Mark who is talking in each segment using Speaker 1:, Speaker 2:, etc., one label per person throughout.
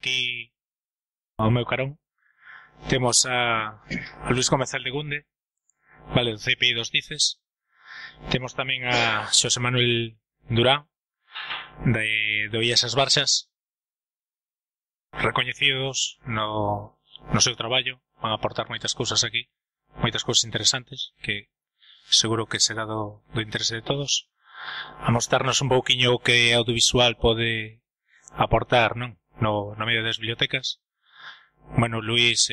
Speaker 1: Aquí, ao meu carón, temos a Luis Gómez Aldegunde, vale, do CPI dos Dices. Temos tamén a Xosé Manuel Durán, do IES Barxas, recoñecidos no seu traballo, van a aportar moitas cousas aquí, moitas cousas interesantes, que seguro que será do interese de todos. A mostrarnos un pouquiño o que audiovisual pode aportar, non? No medio das bibliotecas. Bueno, Luís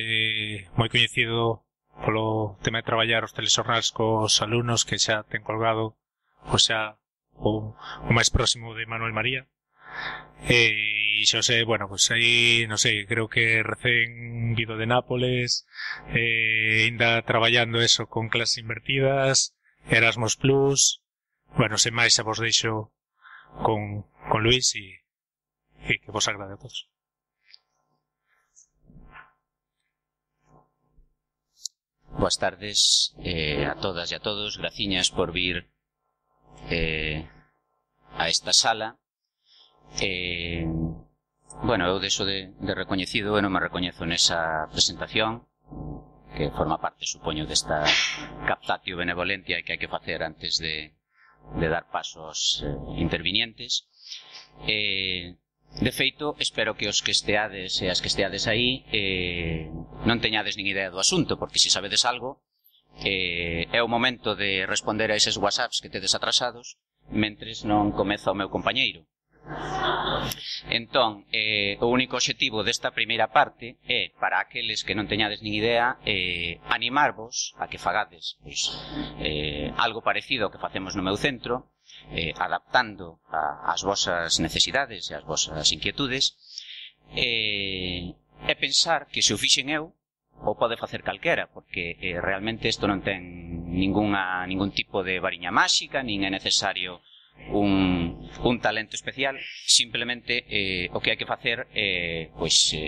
Speaker 1: moi coñecido polo tema de traballar os telexornais cos alumnos, que xa ten colgado xa o máis próximo de Manuel María. E Xosé, bueno, pues aí, non sei, creo que recén vido de Nápoles, ainda traballando eso con clases invertidas, Erasmus Plus. Bueno, sen máis xa vos deixo con Luís e que vos agrade a todos.
Speaker 2: Boas tardes a todas e a todos. Graciñas por vir a esta sala. Bueno, eu deixo de recoñecido, eu non me recoñezo nesa presentación, que forma parte, supoño, desta captatio benevolentia que hai que facer antes de dar paso aos intervinientes. De feito, espero que os que esteades e as que esteades aí non teñades nin idea do asunto, porque se sabedes algo, é o momento de responder a eses whatsapps que tedes atrasados mentres non comeza o meu compañeiro. Entón, o único obxectivo desta primeira parte é, para aqueles que non teñades nin idea, animarvos a que fagades algo parecido ao que facemos no meu centro, adaptando ás vosas necesidades e ás vosas inquietudes, e pensar que se o fixen eu, o pode facer calquera, porque realmente isto non ten ningún tipo de variña máxica, nin é necesario un talento especial. Simplemente o que hai que facer é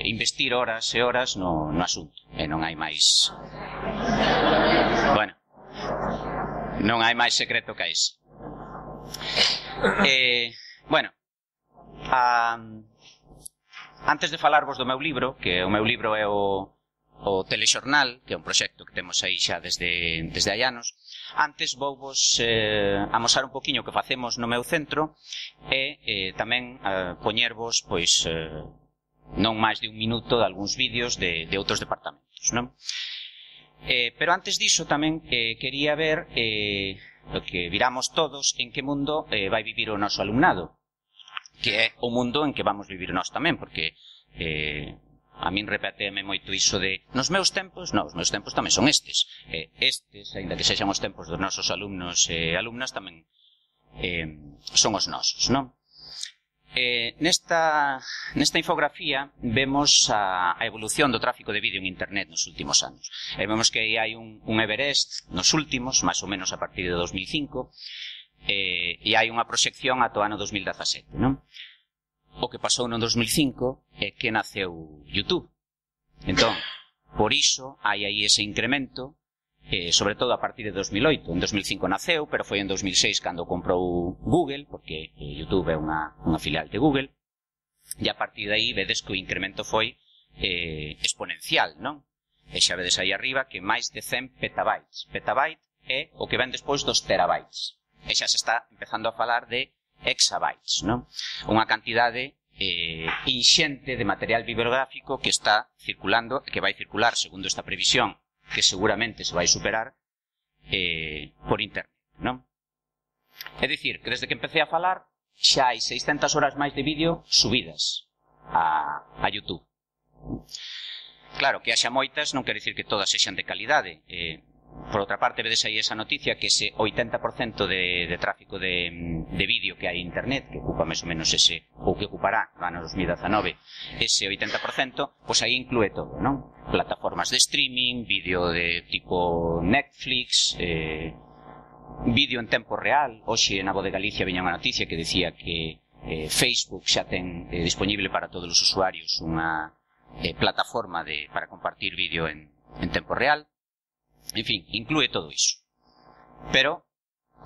Speaker 2: investir horas e horas no asunto, e non hai máis, bueno, non hai máis secreto que ese. Bueno, antes de falarvos do meu libro, que o meu libro é o Telexornal, que é un proxecto que temos aí xa desde hai anos, antes vouvos amosar un poquinho o que facemos no meu centro e tamén poñervos, non máis de un minuto de algúns vídeos de outros departamentos, non? Pero antes diso tamén quería ver o que viramos todos en que mundo vai vivir o noso alumnado, que é o mundo en que vamos vivir nós tamén, porque a min repeteme moito iso de nos meus tempos. Non, os meus tempos tamén son estes, ainda que sexan os tempos dos nosos alumnos e alumnas, tamén son os nosos, non? Nesta infografía vemos a evolución do tráfico de vídeo en internet nos últimos anos. Vemos que hai un Everest nos últimos, máis ou menos a partir de 2005, e hai unha proxección ata o ano 2017, non? O que pasou no 2005 é que naceu YouTube. Entón, por iso hai aí ese incremento, sobre todo a partir de 2008. En 2005 naceu, pero foi en 2006 cando comprou Google, porque YouTube é unha filial de Google, e a partir de aí vedes que o incremento foi exponencial, non? E xa vedes aí arriba que máis de 100 petabytes. Petabyte é o que ven despois dos terabytes. E xa se está empezando a falar de exabytes, non? Unha cantidade inxente de material bibliográfico que está circulando, que vai circular, segundo esta previsión, que seguramente se vai superar por internet, non? É dicir, que desde que empecé a falar xa hai 600 horas máis de vídeo subidas a YouTube. Claro, que haxa moitas non quere dicir que todas sexan de calidade. Por outra parte, vedes aí esa noticia que ese 80% de tráfico de vídeo que hai en internet, que ocupa máis ou menos ese, ou que ocupará no ano 2019, ese 80%, pois aí inclúe todo, non? Plataformas de streaming, vídeo de tipo Netflix, vídeo en tempo real. Hoxe na Voz de Galicia viña unha noticia que decía que Facebook xa ten disponible para todos os usuarios unha plataforma para compartir vídeo en tempo real. En fin, inclúe todo iso. Pero,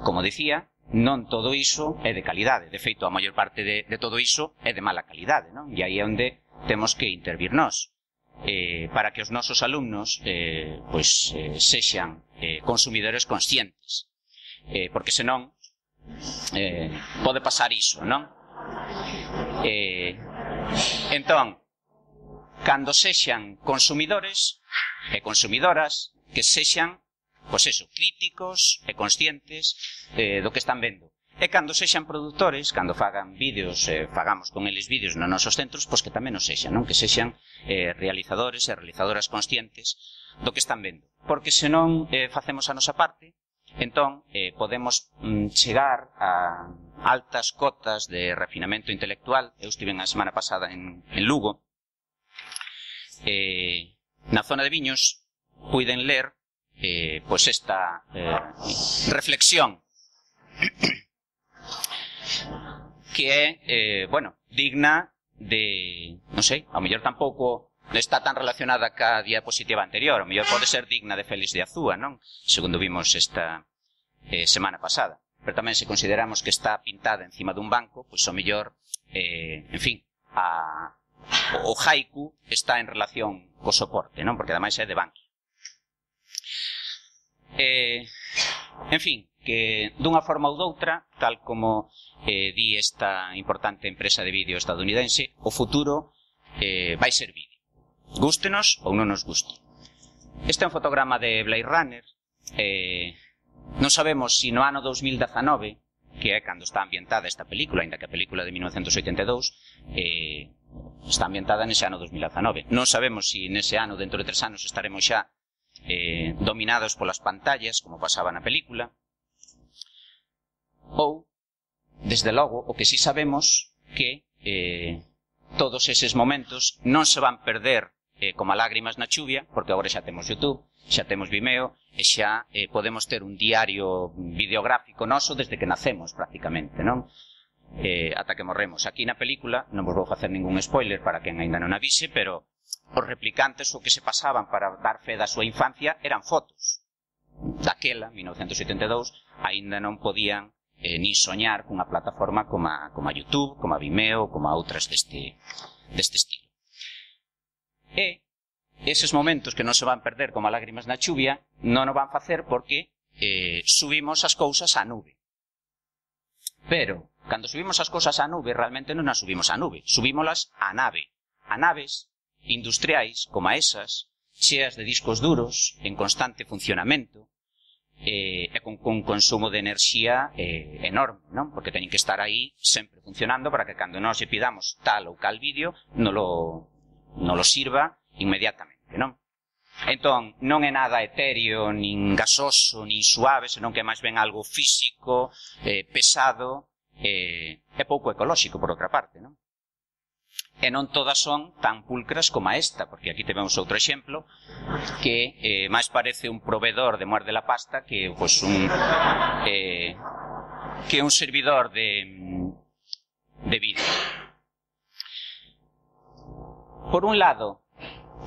Speaker 2: como dicía, non todo iso é de calidade. De feito, a maior parte de todo iso é de mala calidade, non? E aí é onde temos que intervir nós para que os nosos alumnos sexan consumidores conscientes, porque senón pode pasar iso, non? Entón, cando sexan consumidores e consumidoras, que sexan, pois eso, críticos e conscientes do que están vendo. E cando sexan produtores, cando fagan vídeos, fagamos con eles vídeos nos nosos centros, pois que tamén nos sexan, non? Que sexan realizadores e realizadoras conscientes do que están vendo. Porque senón facemos a nosa parte, entón podemos chegar a altas cotas de refinamento intelectual. Eu estive a semana pasada en Lugo. Na zona de viños puiden ler pois esta reflexión que é, digna de, non sei, ao mellor tampouco está tan relacionada ca diapositiva anterior, ao mellor pode ser digna de Félix de Azúa, non? Segundo vimos esta semana pasada. Pero tamén se consideramos que está pintada encima dun banco, pois ao mellor, en fin, o haiku está en relación co soporte, non? Porque ademais é de banco. En fin, que dunha forma ou doutra, tal como di esta importante empresa de vídeo estadounidense, o futuro vai ser vídeo. Gústenos ou non nos guste. Este é un fotograma de Blade Runner. Non sabemos se no ano 2019, que é cando está ambientada esta película, ainda que a película de 1982 está ambientada nese ano 2019. Non sabemos se nese ano, dentro de 3 anos, estaremos xa dominados polas pantallas, como pasaba na película, ou, desde logo, o que sí sabemos que todos eses momentos non se van perder como a lágrimas na chuvia, porque agora xa temos YouTube, xa temos Vimeo, e xa podemos ter un diario videográfico noso desde que nacemos, prácticamente, non? Ata que morremos. Aquí na película, non vos vou facer ningún spoiler para quen ainda non avise, pero os replicantes o que se pasaban para dar fe da súa infancia eran fotos. Daquela, 1982, aínda non podían ni soñar cunha plataforma como a YouTube, como a Vimeo, como a outras deste estilo. E eses momentos que non se van perder como a lágrimas na chuvia non o van facer porque subimos as cousas á nube. Pero, cando subimos as cousas á nube, realmente non as subimos á nube, subímolas á nave. A naves industriais como a esas, cheas de discos duros, en constante funcionamento, e con consumo de enerxía enorme, non? Porque teñen que estar aí sempre funcionando para que cando nós lle pidamos tal ou cal vídeo non lo sirva inmediatamente, non? Entón, non é nada etéreo, nin gasoso, nin suave, senón que máis ben algo físico, pesado, e pouco ecolóxico, por outra parte, non? E non todas son tan pulcras como esta, porque aquí temos outro exemplo que máis parece un proveedor de muerde la pasta que pues, un servidor de vídeo. Por un lado,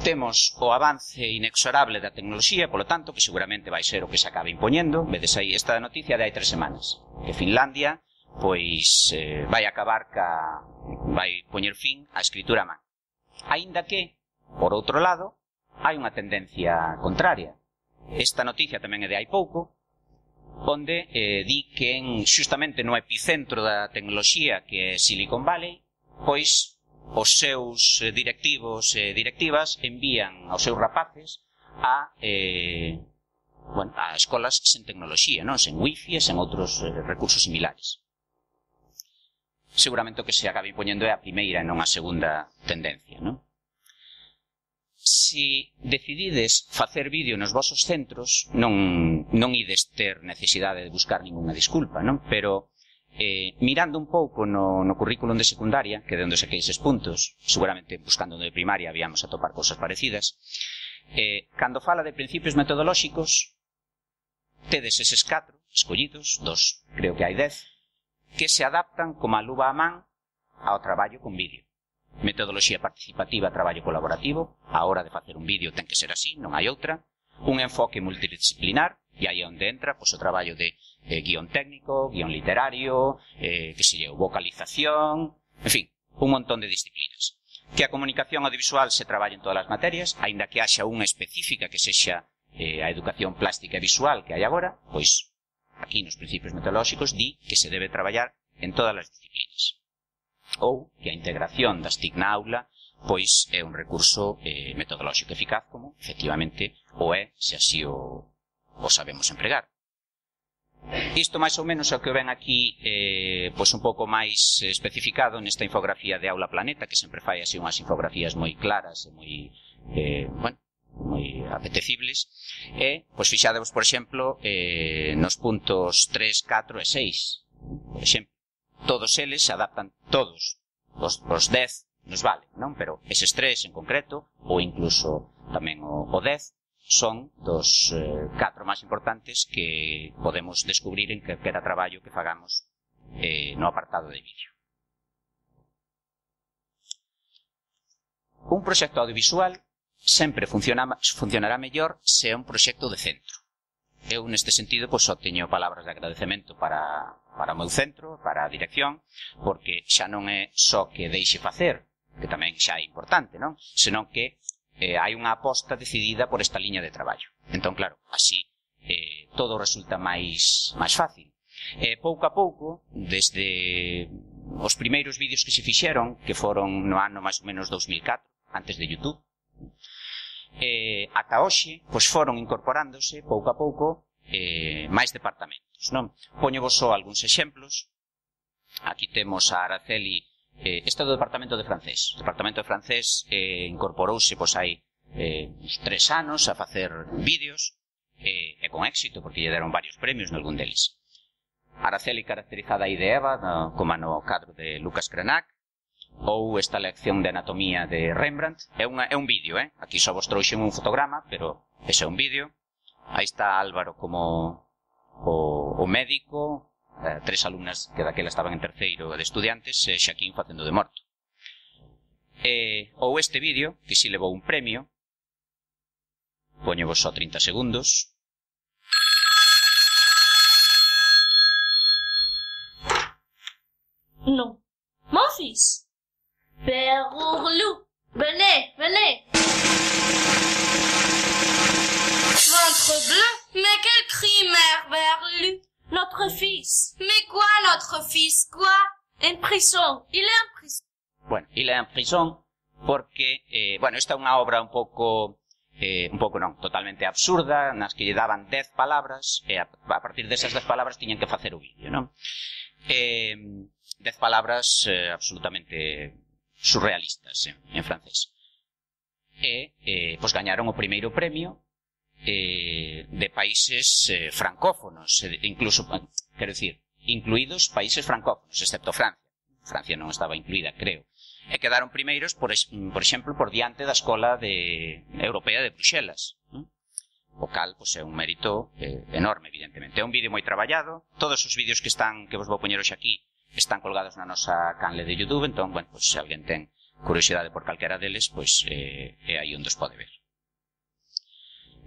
Speaker 2: temos o avance inexorable da tecnoloxía, polo tanto, que seguramente vai ser o que se acabe impoñendo. Vedes aí esta noticia de hai 3 semanas, que Finlandia pois vai acabar vai poñer fin á escritura a man. Aínda que, por outro lado, hai unha tendencia contraria. Esta noticia tamén é de hai pouco, onde di que xustamente no epicentro da tecnoloxía, que é Silicon Valley, pois os seus directivos e directivas envían aos seus rapaces a escolas sen tecnoloxía, non? Sen wifi e sen outros recursos similares. Seguramente o que se acabe impoñendo é a primeira e non a segunda tendencia, non? Se decidides facer vídeo nos vosos centros, non ides ter necesidade de buscar ninguna disculpa, non? Pero mirando un pouco no currículum de secundaria, que é de onde saquei eses puntos, seguramente buscando no de primaria habíamos a topar cousas parecidas, cando fala de principios metodolóxicos, tedes eses 4 escollidos, 2, creo que hai 10, que se adaptan como a luva a man ao traballo con vídeo. Metodoloxía participativa, traballo colaborativo, a hora de facer un vídeo ten que ser así, non hai outra. Un enfoque multidisciplinar, e aí é onde entra pois, o traballo de guión técnico, guión literario, vocalización, en fin, un montón de disciplinas. Que a comunicación audiovisual se traballa en todas as materias, aínda que haxa unha específica que sexa a educación plástica e visual que hai agora, pois aquí nos principios metodolóxicos di que se debe traballar en todas as disciplinas. Ou que a integración das TIC na aula pois é un recurso metodolóxico eficaz como, efectivamente, o é se así o sabemos empregar. Isto máis ou menos é o que ven aquí pois un pouco máis especificado nesta infografía de Aula Planeta, que sempre fai así unhas infografías moi claras e moi, moi apetecibles. E, pois fixadevos, por exemplo, nos puntos 3, 4 e 6. Por exemplo, todos eles se adaptan, todos os 10 nos vale, non? Pero eses 3 en concreto, ou incluso tamén o 10, son dos 4 máis importantes que podemos descubrir en calquera traballo que fagamos no apartado de vídeo. Un proxecto audiovisual sempre funcionará mellor se é un proxecto de centro. Eu, neste sentido, pois, só teño palabras de agradecemento para o meu centro, para a dirección, porque xa non é só que deixe facer, que tamén xa é importante, non? Senón que hai unha aposta decidida por esta liña de traballo. Entón, claro, así todo resulta máis fácil. Pouco a pouco, desde os primeiros vídeos que se fixeron, que foron no ano máis ou menos 2004, antes de YouTube, ata hoxe, pois foron incorporándose pouco a pouco máis departamentos, non? Poñovos só algúns exemplos. Aquí temos a Araceli. Este é do departamento de francés. O departamento de francés incorporouse pois hai uns 3 anos a facer vídeos e con éxito, porque lle deron varios premios nalgún deles. Araceli caracterizada aí de Eva, como no cadro de Lucas Cranach, ou esta lección de anatomía de Rembrandt. É un vídeo, aquí só vos trouxen un fotograma, pero ese é un vídeo. Aí está Álvaro como o médico, 3 alumnas que daquela estaban en terceiro de estudiantes, e Xaquín facendo de morto. Ou este vídeo, que si levou un premio, poñevos só 30 segundos.
Speaker 3: Non. Mon fils. Père Ourlou, venez, venez. Ventre bleu, mais quel cri, mère Berlu. Notre fils. Mais quoi, notre fils? Quoi? En prison. Il est en prison.
Speaker 2: Bueno, il est en prison porque, esta é unha obra un pouco non, totalmente absurda, nas que lle daban 10 palabras, e a partir desas 10 palabras tiñan que facer o vídeo, non? 10 palabras absolutamente surrealistas en francés. Pois gañaron o primeiro premio de países francófonos, incluso, quero dicir, incluídos países francófonos, excepto Francia. Francia non estaba incluída, creo. E quedaron primeiros, por exemplo, por diante da Escola Europea de Bruxelas. O cal, pois, é un mérito enorme, evidentemente. É un vídeo moi traballado. Todos os vídeos que vos vou poñer hoxe aquí están colgados na nosa canle de YouTube, entón, bueno, pois, se alguén ten curiosidade por calquera deles, pois, é aí onde os pode ver.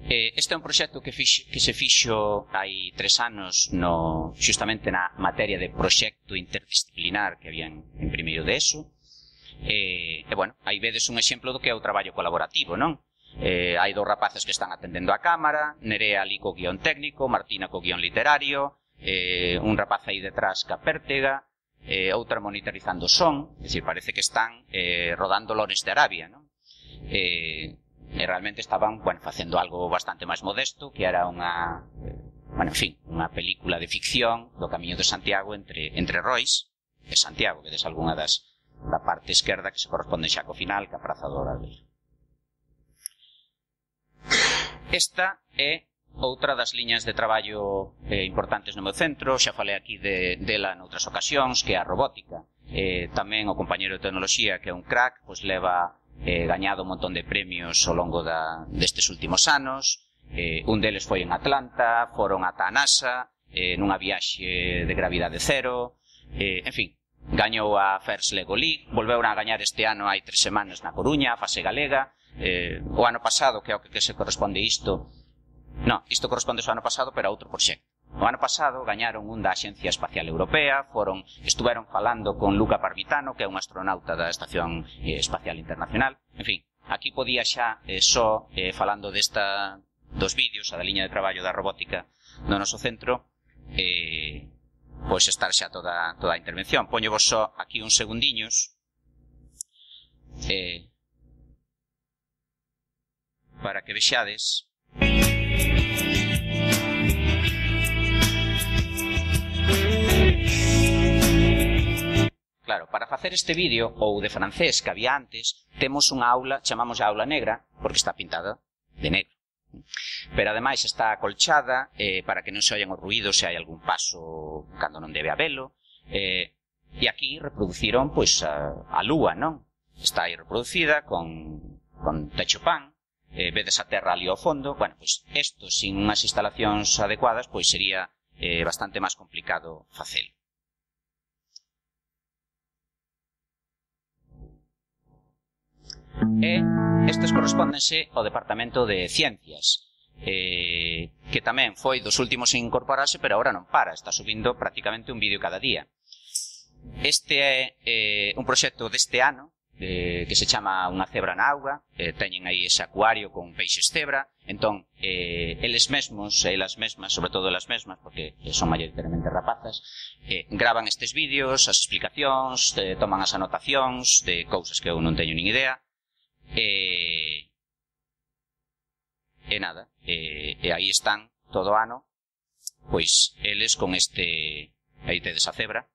Speaker 2: Este é un proxecto que se fixo hai 3 anos xustamente na materia de proxecto interdisciplinar que había en primeiro de ESO. Bueno, aí vedes un exemplo do que é o traballo colaborativo, non? Hai 2 rapaces que están atendendo a cámara, Nerea ali co guión técnico, Martina co guión literario, un rapaz aí detrás ca pértega, outra monitorizando o son, é dicir, parece que están rodando Lawrence de Arabia, non? E realmente estaban, bueno, facendo algo bastante máis modesto, que era unha película de ficción do Camiño de Santiago entre Rois e Santiago, que des algunha da parte esquerda que se corresponde xa co final, que a Praza do Obradoiro. Esta é outra das liñas de traballo importantes no meu centro, xa falei aquí dela noutras ocasións, que é a robótica. Tamén o compañeiro de tecnoloxía, que é un crack, pois leva gañado un montón de premios ao longo destes últimos anos. Un deles foi en Atlanta, foron ata a NASA, nunha viaxe de gravidade cero, en fin, gañou a First Lego League, volveu a gañar este ano hai 3 semanas na Coruña, a fase galega. O ano pasado, que é o que se corresponde isto, non, isto corresponde ao ano pasado, pero a outro proxecto. O ano pasado gañaron un da Axencia Espacial Europea, estuveron falando con Luca Parmitano, que é un astronauta da Estación Espacial Internacional. En fin, aquí podía xa falando dos vídeos, a da liña de traballo da robótica no noso centro, pois estar xa toda a intervención. Poño vos só aquí uns segundiños para que vexades. Claro, para facer este vídeo, ou de francés que había antes, temos unha aula, chamamos a aula negra, porque está pintada de negro. Pero ademais está acolchada para que non se oian os ruídos se hai algún paso cando non debe habelo. E aquí reproduciron pois a lúa, non? Está aí reproducida con techo pan. Vedes a terra ali ao fondo. Bueno, pois isto sin unhas instalacións adecuadas pois sería bastante máis complicado facelo. E estes correspóndense ao Departamento de Ciencias, que tamén foi dos últimos en incorporarse, pero agora non para, está subindo prácticamente un vídeo cada día. Este é un proxecto deste ano, que se chama Unha cebra na auga. Teñen aí ese acuario con peixes cebra. Entón, eles mesmos, elas mesmas, sobre todo elas mesmas, porque son maioritariamente rapazas, gravan estes vídeos, as explicacións, toman as anotacións de cousas que eu non teño nin idea. E nada, e aí están todo o ano, pois eles con este, aí tedes a cebra,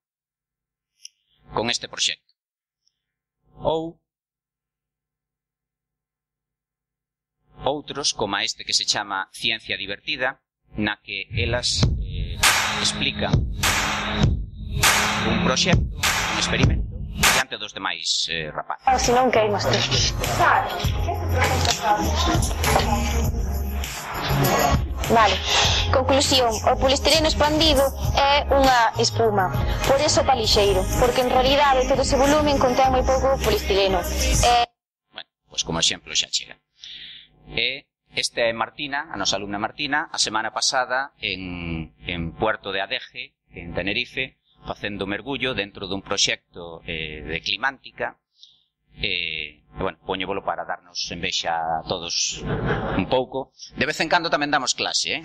Speaker 2: con este proxecto. Ou outros, como este que se chama Ciencia Divertida, na que elas explican un proxecto, un experimento, diante dos demais rapaces.
Speaker 4: Se non queimas ti. Vale. Conclusión, o polistireno expandido é unha espuma, por eso está lixeiro, porque en realidade todo ese volumen contén moi pouco polistireno.
Speaker 2: Bueno, pois como exemplo xa chega. Esta é Martina, a nosa alumna Martina, a semana pasada en Puerto de Adeje, en Tenerife, facendo mergullo dentro dun proxecto de climántica. Bueno, poñévolo para darnos envexa a todos un pouco. De vez en cando tamén damos clase,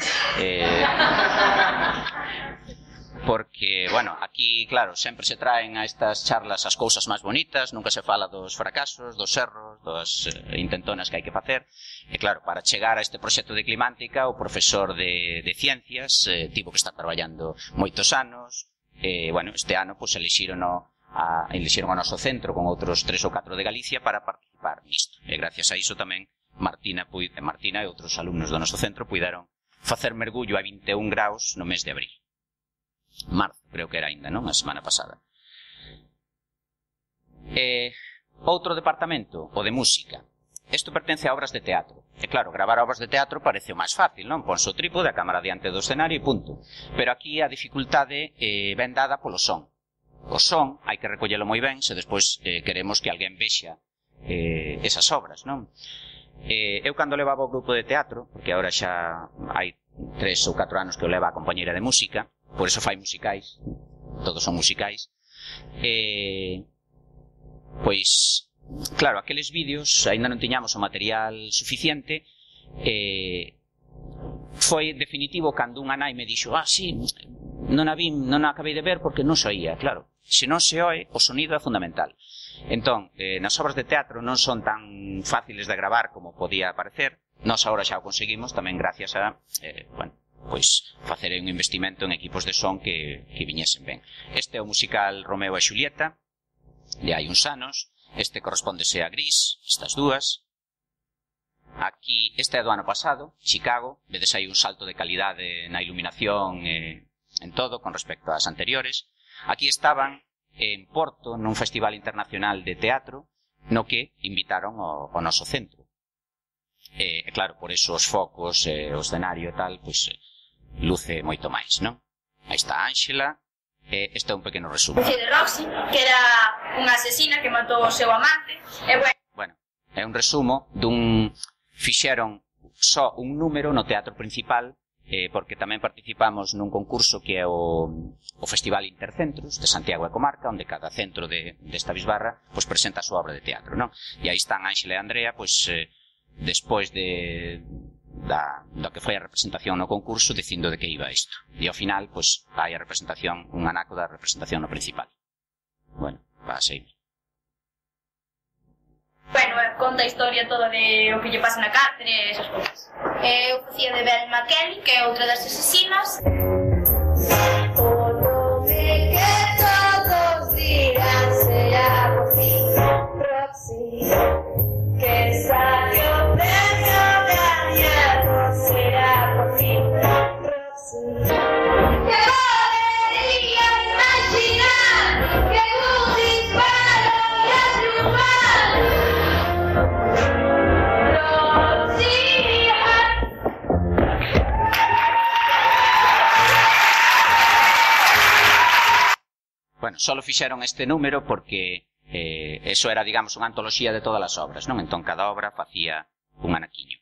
Speaker 2: porque, bueno, aquí, claro, sempre se traen a estas charlas as cousas máis bonitas, nunca se fala dos fracasos, dos erros, das intentonas que hai que facer. E claro, para chegar a este proxecto de climántica, o profesor de ciencias tivo que estar traballando moitos anos. Bueno, este ano, pois, elixeron ao noso centro con outros 3 ou 4 de Galicia para participar nisto. E gracias a iso tamén Martina e outros alumnos do noso centro puideron facer mergullo a 21 graus no mes de abril. Marzo, creo que era ainda, non? A semana pasada. Outro departamento, o de música. Isto pertence a obras de teatro. E claro, gravar obras de teatro parece o máis fácil, non? Ponse o trípode, a cámara diante do escenario e punto. Pero aquí a dificultade ven dada polo son. O son hai que recollelo moi ben se despois queremos que alguén vexa esas obras, non? Eu cando levaba o grupo de teatro, porque agora xa hai 3 ou 4 anos que eu leva a compañeira de música, por eso fai musicais, todos son musicais, pois, claro, aqueles vídeos aínda non tiñamos o material suficiente. Foi definitivo cando unha nai me dixo: sí, non a acabei de ver porque non se oía. Claro, se non se oe, o sonido é fundamental. Entón, nas obras de teatro non son tan fáciles de gravar como podía parecer. Nós agora xa o conseguimos tamén gracias a, bueno, pois facer un investimento en equipos de son que viñesen ben. Este é o musical Romeo e Xulieta, de hai uns anos. Este correspóndese a Gris, estas dúas. Aquí, este é do ano pasado, Chicago. Vedes aí un salto de calidade na iluminación en todo con respecto ás anteriores. Aquí estaban en Porto, nun festival internacional de teatro, no que invitaron ao noso centro. E claro, por eso os focos, o escenario e tal, pois luce moito máis, non? Aí está Ángela. Este é un pequeno resumo.
Speaker 3: De Roxy, que era unha asesina que matou o seu amante.
Speaker 2: Bueno, é un resumo dun... Fixeron só un número no teatro principal porque tamén participamos nun concurso que é o Festival Intercentros de Santiago e Comarca, onde cada centro desta bisbarra pois presenta a súa obra de teatro, non? E aí están Ánxela e Andrea, pois despois da que foi a representación no concurso, dicindo de que iba isto. E ao final, pois, hai a representación, un anaco da representación no principal. Bueno, va a seguir.
Speaker 3: Bueno, conta a historia toda de o que lle pasa na cárcere e esas cousas. Eu facía de Velma Kelly, que é outra das asesinas. O nome que todos dirán será por ti, Roxy, que sabe o premio gañado será por ti, Roxy. Que podería imaginar que un disparo ia triunfar, Roxy.
Speaker 2: Bueno, solo fixeron este número porque eso era, digamos, unha antoloxía de todas as obras, non? Entón, cada obra facía un anaquiño.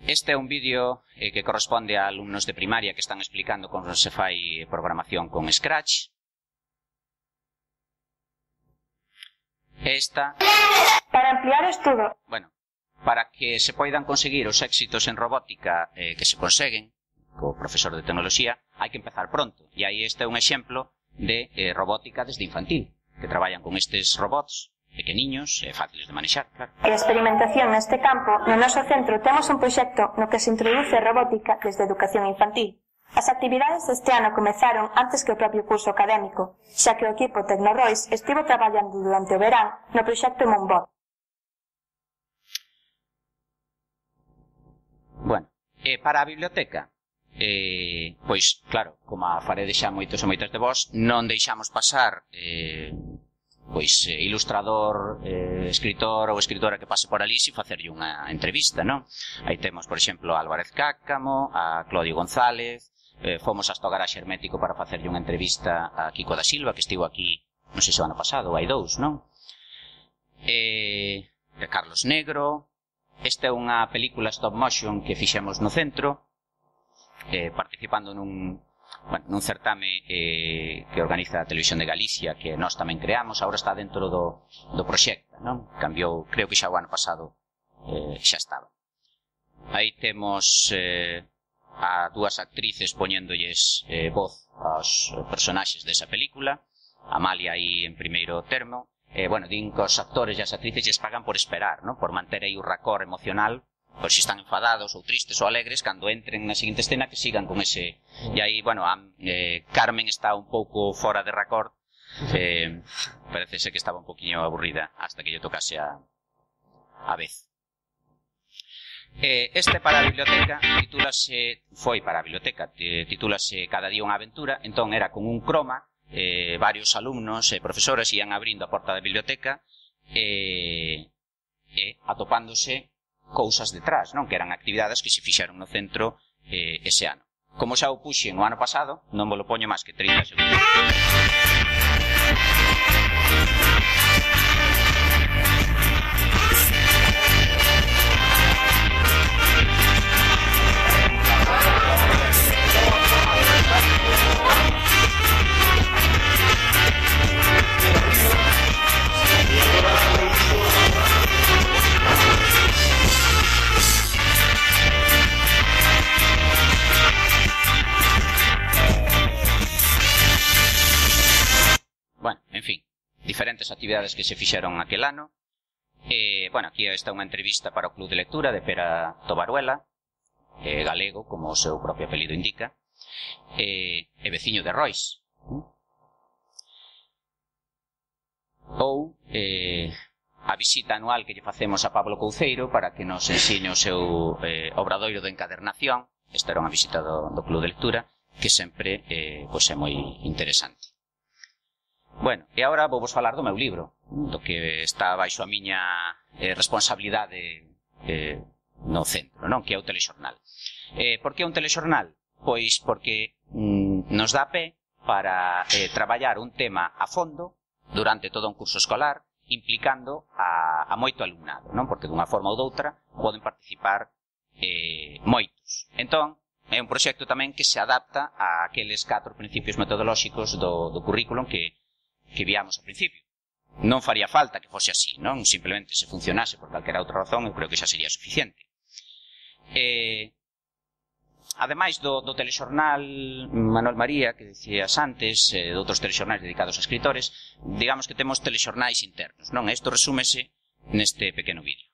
Speaker 2: Este é un vídeo que corresponde a alumnos de primaria que están explicando como se fai programación con Scratch. Esta...
Speaker 4: Para ampliar o estudo.
Speaker 2: Bueno, para que se poidan conseguir os éxitos en robótica que se conseguen co profesor de tecnoloxía, hai que empezar pronto. E aí este é un exemplo de robótica desde infantil, que traballan con estes robots pequeniños e fáciles de manexar, claro.
Speaker 4: E a experimentación neste campo, no noso centro temos un proxecto no que se introduce robótica desde educación infantil. As actividades deste ano comezaron antes que o propio curso académico, xa que o equipo Tecnorois estivo traballando durante o verán no proxecto Moonbot.
Speaker 2: Bueno, para a biblioteca, pois, claro, como a farede xa moitos e moitas de vós, non deixamos pasar pois ilustrador, escritor ou escritora que pase por ali e facerlle unha entrevista, non? Aí temos, por exemplo, a Álvarez Cáccamo, a Claudio González, fomos hasta o Garaxe Hermético para facerlle unha entrevista a Kiko da Silva, que estivo aquí, non sei se o ano pasado, hai 2, non? Carlos Negro. Esta é unha película stop motion que fixemos no centro, participando nun certame que organiza a Televisión de Galicia, que nós tamén creamos, agora está dentro do proxecto, non? Cambiou, creo que xa o ano pasado xa estaba. Aí temos a dúas actrices poñéndolles voz aos personaxes desa película, Amalia aí en primeiro termo. Bueno, din que os actores e as actrices lles pagan por esperar, non? Por manter aí o racor emocional, por se están enfadados ou tristes ou alegres, cando entren na seguinte escena que sigan con ese... E aí, bueno, Carmen está un pouco fora de racor, parece ser que estaba un poquinho aburrida hasta que lle tocase a vez. Este para a biblioteca titúlase Cada día unha aventura. Entón era con un croma, varios alumnos e profesores ian abrindo a porta da biblioteca e atopándose cousas detrás, non? Que eran actividades que se fixeron no centro ese ano. Como xa o puxen o ano pasado, non vos lo poño máis que 30 segundos. Bueno, en fin, diferentes actividades que se fixeron aquel ano. Bueno, aquí está unha entrevista para o Club de Lectura de Pera Tobaruela, galego, como o seu propio apelido indica, e veciño de Rois. Ou a visita anual que lle facemos a Pablo Couceiro para que nos ensine o seu obradoiro de encadernación. Esta era unha visita do Club de Lectura que sempre pois é moi interesante. Bueno, e agora vou vos falar do meu libro, do que está baixo a miña responsabilidade no centro, non? Que é o telexornal. Por que un telexornal? Pois porque nos dá pé para traballar un tema a fondo durante todo un curso escolar, implicando a moito alumnado, non? Porque dunha forma ou doutra poden participar moitos. Entón, é un proxecto tamén que se adapta a aqueles 4 principios metodolóxicos do currículum que viamos ao principio. Non faría falta que fose así, non? Simplemente se funcionase por calquera outra razón, eu creo que xa sería suficiente. Ademais do telexornal Manuel María, que dicías antes, de outros telexornais dedicados a escritores, digamos que temos telexornais internos, non? Isto resúmese neste pequeno vídeo.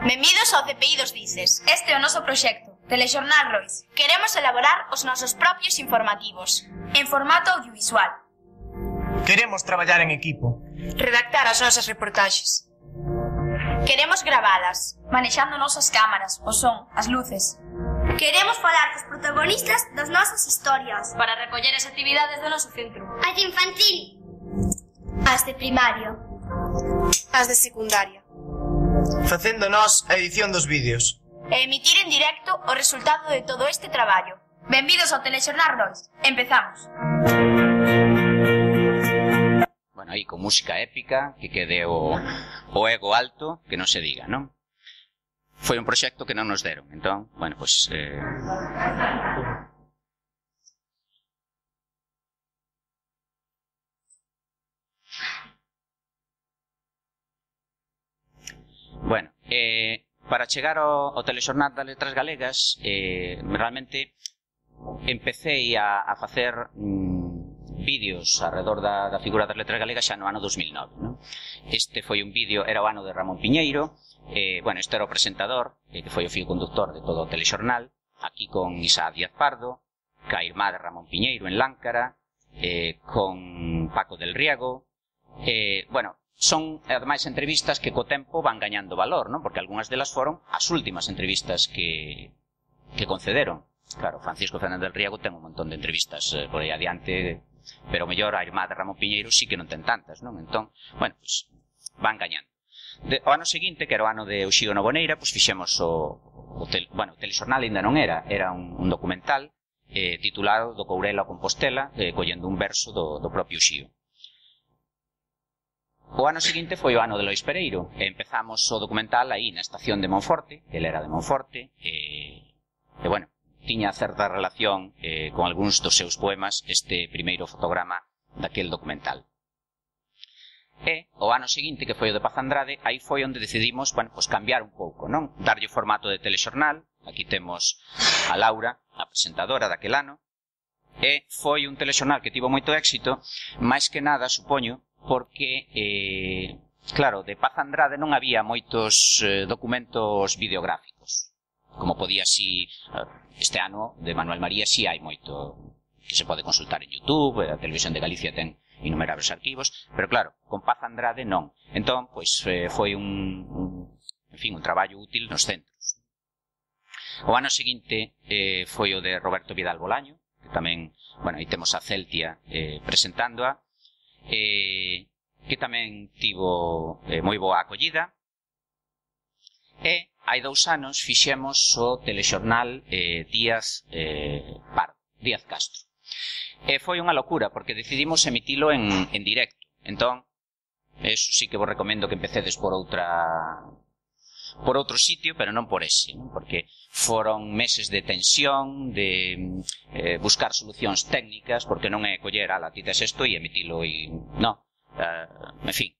Speaker 3: Benvidos ao CPI dos Dices. Este é o noso proxecto, Telexornal Rois. Queremos elaborar os nosos propios informativos, en formato audiovisual.
Speaker 5: Queremos traballar en equipo.
Speaker 6: Redactar as nosas reportaxes.
Speaker 3: Queremos gravalas, manexando nosas cámaras, o son, as luces.
Speaker 7: Queremos falar cos protagonistas das nosas historias.
Speaker 3: Para recoller as actividades do noso centro.
Speaker 7: As de infantil.
Speaker 3: As de primario.
Speaker 6: As de secundaria.
Speaker 5: Facendo nós a edición dos vídeos.
Speaker 3: E emitir en directo o resultado de todo este traballo. Benvidos ao Telexornal Rois. Empezamos.
Speaker 2: Bueno, aí con música épica, que quede o ego alto, que non se diga, non? Foi un proxecto que non nos deron, entón, bueno, pois... Bueno, para chegar ao Telexornal das Letras Galegas, realmente empecé a facer vídeos alrededor da figura das letras galegas xa no ano 2009, non? Este foi un vídeo, era o ano de Ramón Piñeiro, bueno, este era o presentador, que foi o fío conductor de todo o telexornal, aquí con Isaac Díaz Pardo, ca irmá de Ramón Piñeiro en Láncara, con Paco del Riego, bueno, son, ademais, entrevistas que co tempo van gañando valor, non? Porque algunhas delas foron as últimas entrevistas que concederon. Claro, Francisco Fernández del Riego ten un montón de entrevistas por aí adiante, pero o mellor a irmá de Ramón Piñeiro sí que non ten tantas, non? Entón, bueno, pues van gañando. O ano seguinte, que era o ano de Uxío Novoneira, pues fixemos o telexornal ainda non era un documental titulado Do Courel ao Compostela, collendo un verso do propio Uxío. O ano seguinte foi o ano de Lois Pereiro, e empezamos o documental aí na estación de Monforte, ele era de Monforte, e bueno, tiña certa relación con algúns dos seus poemas este primeiro fotograma daquel documental. E o ano seguinte, que foi o de Paz Andrade, aí foi onde decidimos, bueno, pues cambiar un pouco, non? Darlle o formato de telexornal, aquí temos a Laura, a presentadora daquel ano, e foi un telexornal que tivo moito éxito, máis que nada, supoño, porque, claro, de Paz Andrade non había moitos documentos videográficos, como podía si... Este ano, de Manuel María, sí hai moito que se pode consultar en YouTube, a Televisión de Galicia ten innumerables arquivos, pero claro, con Paz Andrade non. Entón, pois, foi un traballo útil nos centros. O ano seguinte foi o de Roberto Vidal Bolaño, que tamén, bueno, aí temos a Celtia presentándoa, que tamén tivo moi boa acollida, e hai 2 anos fixemos o telexornal Díaz Castro. E foi unha locura, porque decidimos emitilo en directo. Entón, eso sí que vos recomendo que empecedes por outro sitio, pero non por ese, non? Porque foron meses de tensión, de buscar solucións técnicas, porque non é coller, ala, ti tes isto e emitilo e... non, en fin.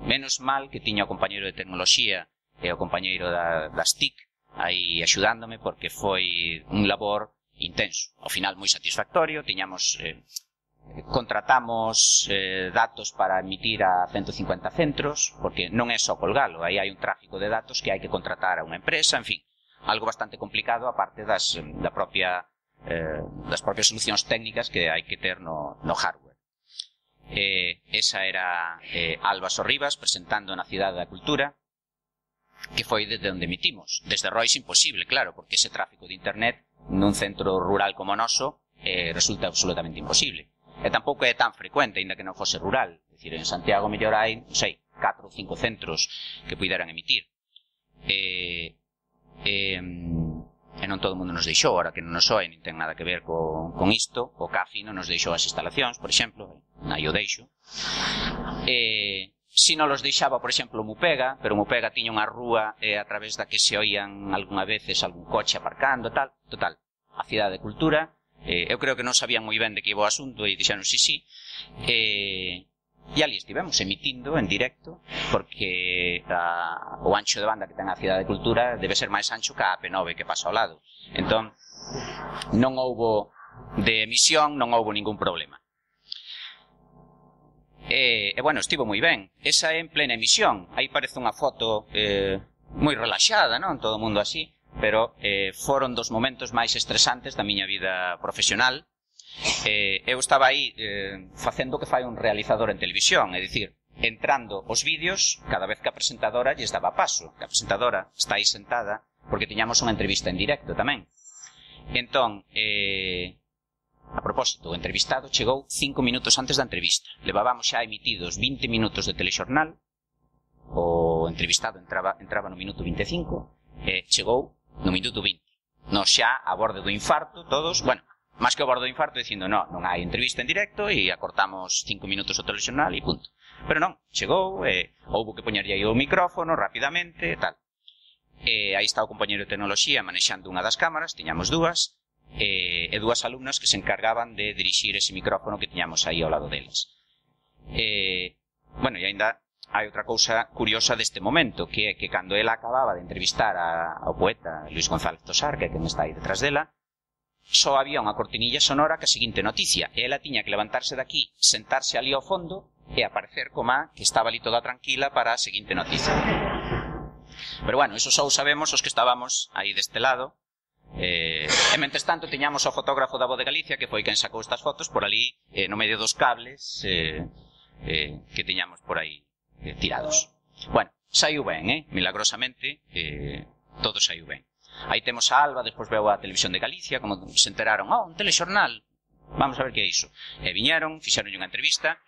Speaker 2: Menos mal que tiña o compañeiro de tecnoloxía e o compañeiro das TIC aí axudándome, porque foi un labor intenso. Ao final moi satisfactorio, contratamos datos para emitir a 150 centros, porque non é só colgalo, aí hai un tráfico de datos que hai que contratar a unha empresa, en fin, algo bastante complicado, aparte das propias solucións técnicas que hai que ter no hardware. Esa era Alba Sorribas presentando na Cidade da Cultura, que foi desde onde emitimos. Desde Rois imposible, claro, porque ese tráfico de internet nun centro rural como o noso resulta absolutamente imposible. E tampouco é tan frecuente, ainda que non fose rural. É dicir, en Santiago mellor hai, non sei, 4 ou 5 centros que puideran emitir. E non todo o mundo nos deixou, ahora que non nos soe, nin ten nada que ver con isto. O CAFI non nos deixou as instalacións, por exemplo, aí o deixo. Si non los deixaba, por exemplo, Mupega, pero Mupega tiña unha rúa a través da que se oían algunha veces algún coche aparcando, tal. Total, a Cidade de Cultura, eu creo que non sabían moi ben de que iba o asunto e dixeron sí. E ali estivemos emitindo en directo, porque o ancho de banda que ten a Cidade de Cultura debe ser máis ancho que a AP9 que pasa ao lado. Entón, non houbo de emisión, non houbo ningún problema. Bueno, estivo moi ben. Esa é en plena emisión. Aí parece unha foto moi relaxada, non? Todo o mundo así. Pero foron dos momentos máis estresantes da miña vida profesional. Eu estaba aí facendo o que fai un realizador en televisión, é dicir, entrando os vídeos cada vez que a presentadora lles daba paso, que a presentadora está aí sentada porque tiñamos unha entrevista en directo tamén. Entón, a propósito, o entrevistado chegou 5 minutos antes da entrevista. Levábamos xa emitidos 20 minutos de telexornal, o entrevistado entraba no minuto 25, chegou no minuto 20. Nos xa a borde do infarto, todos, bueno, máis que a borde do infarto, dicindo, non hai entrevista en directo e acortamos 5 minutos o telexornal e punto. Pero non, chegou, houbo que poñerlle aí o micrófono rapidamente, tal. Aí está o compañero de tecnoloxía manexando unha das cámaras, tiñamos dúas, e dúas alumnas que se encargaban de dirixir ese micrófono que tiñamos aí ao lado deles. Bueno, e ainda hai outra cousa curiosa deste momento, que é que cando ela acababa de entrevistar ao poeta Luis González Tosar, que é quen está aí detrás dela, só había unha cortinilla sonora que a seguinte noticia, e ela tiña que levantarse daqui, sentarse ali ao fondo e aparecer como que estaba ali toda tranquila para a seguinte noticia. Pero bueno, eso só sabemos os que estábamos aí deste lado. E mentres tanto tiñamos o fotógrafo da Voz de Galicia, que foi quen sacou estas fotos por ali, no medio dos cables que tiñamos por aí tirados. Bueno, saiu ben, milagrosamente, todo saiu ben. Aí temos a Alba, despois veu a Televisión de Galicia, como se enteraron, un telexornal, vamos a ver que é iso. E viñeron, fixeron unha entrevista,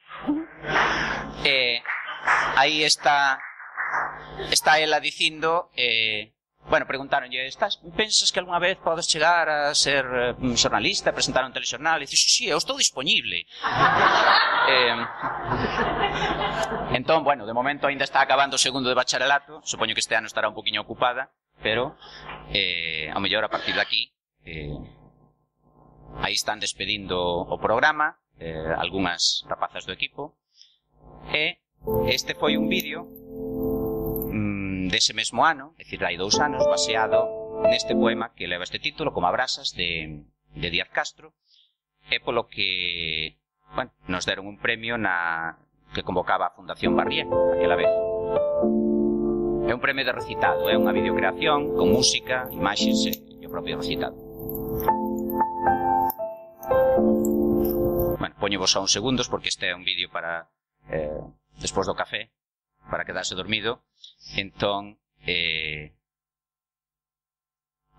Speaker 2: aí está ela dicindo... Bueno, preguntáronlle, pensas que algunha vez podes chegar a ser xornalista, presentar un telexornal? E dice, sí, eu estou disponible. Entón, bueno, de momento ainda está acabando o segundo de bacharelato, supoño que este ano estará un poquinho ocupada, pero ao mellor a partir de aquí aí están despedindo o programa, algunhas rapazas do equipo, e este foi un vídeo dese mesmo ano, é dicir, hai 2 anos, baseado neste poema que leva este título, Como abrasas, de Díaz Castro, e polo que, bueno, nos deron un premio que convocaba a Fundación Barrié, aquela vez. É un premio de recitado, é unha videocreación con música, imaxes e o propio recitado. Bueno, poñevos só uns segundos porque este é un vídeo para despois do café, para quedarse dormido. Entón,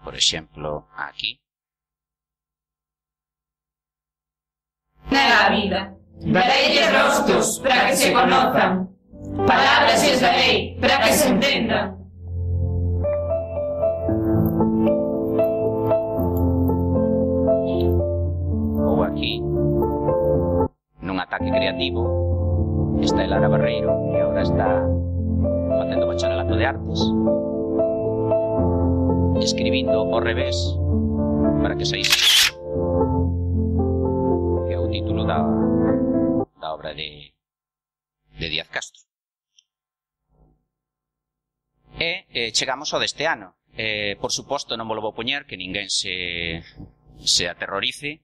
Speaker 2: por exemplo, aquí.
Speaker 8: Nega a vida, dareilles rostros para que se conozcan, palabras lles darei para que se entendan.
Speaker 2: Ou aquí, nun ataque creativo, está Lara Barreiro, que agora está facendo bacharelato de artes, escribindo ao revés para que saíse, que é o título da obra de Díaz Castro. E chegamos ao deste ano. Por suposto non vos lo vou poñer, que ninguén se aterrorice,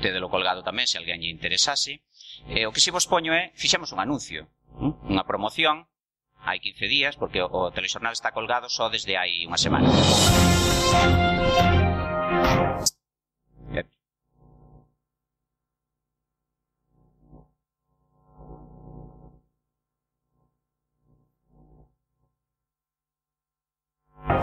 Speaker 2: tedelo colgado tamén se alguén lle interesase. O que si vos poño é, fixemos un anuncio, unha promoción, hai 15 días, porque o telexornal está colgado só desde hai unha semana.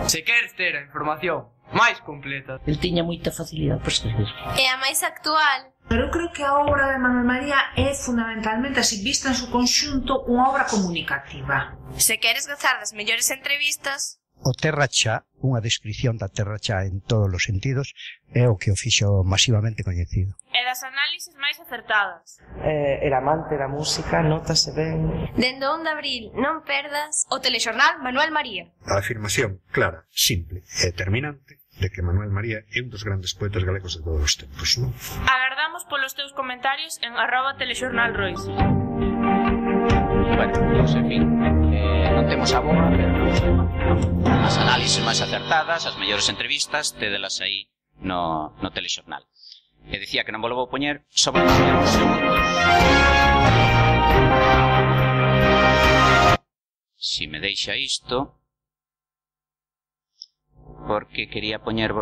Speaker 5: Se queres ter a información máis completa,
Speaker 9: El tiña moita facilidade para escribir.
Speaker 7: É a máis actual.
Speaker 8: Pero eu creo que a obra de Manuel María é fundamentalmente, así vista en su conxunto, unha obra comunicativa.
Speaker 6: Se queres gozar das mellores entrevistas,
Speaker 10: O Terra Cha, unha descripción da Terra Cha en todos os sentidos, é o que o fixo masivamente coñecido.
Speaker 8: E das análises máis acertadas.
Speaker 11: Era amante da música, nótase ben.
Speaker 12: Dende o 1 de abril, non perdas o telexornal Manuel María.
Speaker 13: A afirmación clara, simple e determinante de que Manuel María é un dos grandes poetas galegos de todos os tempos, non?
Speaker 8: Agardamos polos teus comentarios en @telexornalrois.
Speaker 2: Bueno, pues en fin, non temos a boa, pero as análises máis acertadas, as mellores entrevistas, tédelas aí no telexornal. E dicía que non vou poñer só para poñer uns segundos. Si me deixa isto, porque quería poñer...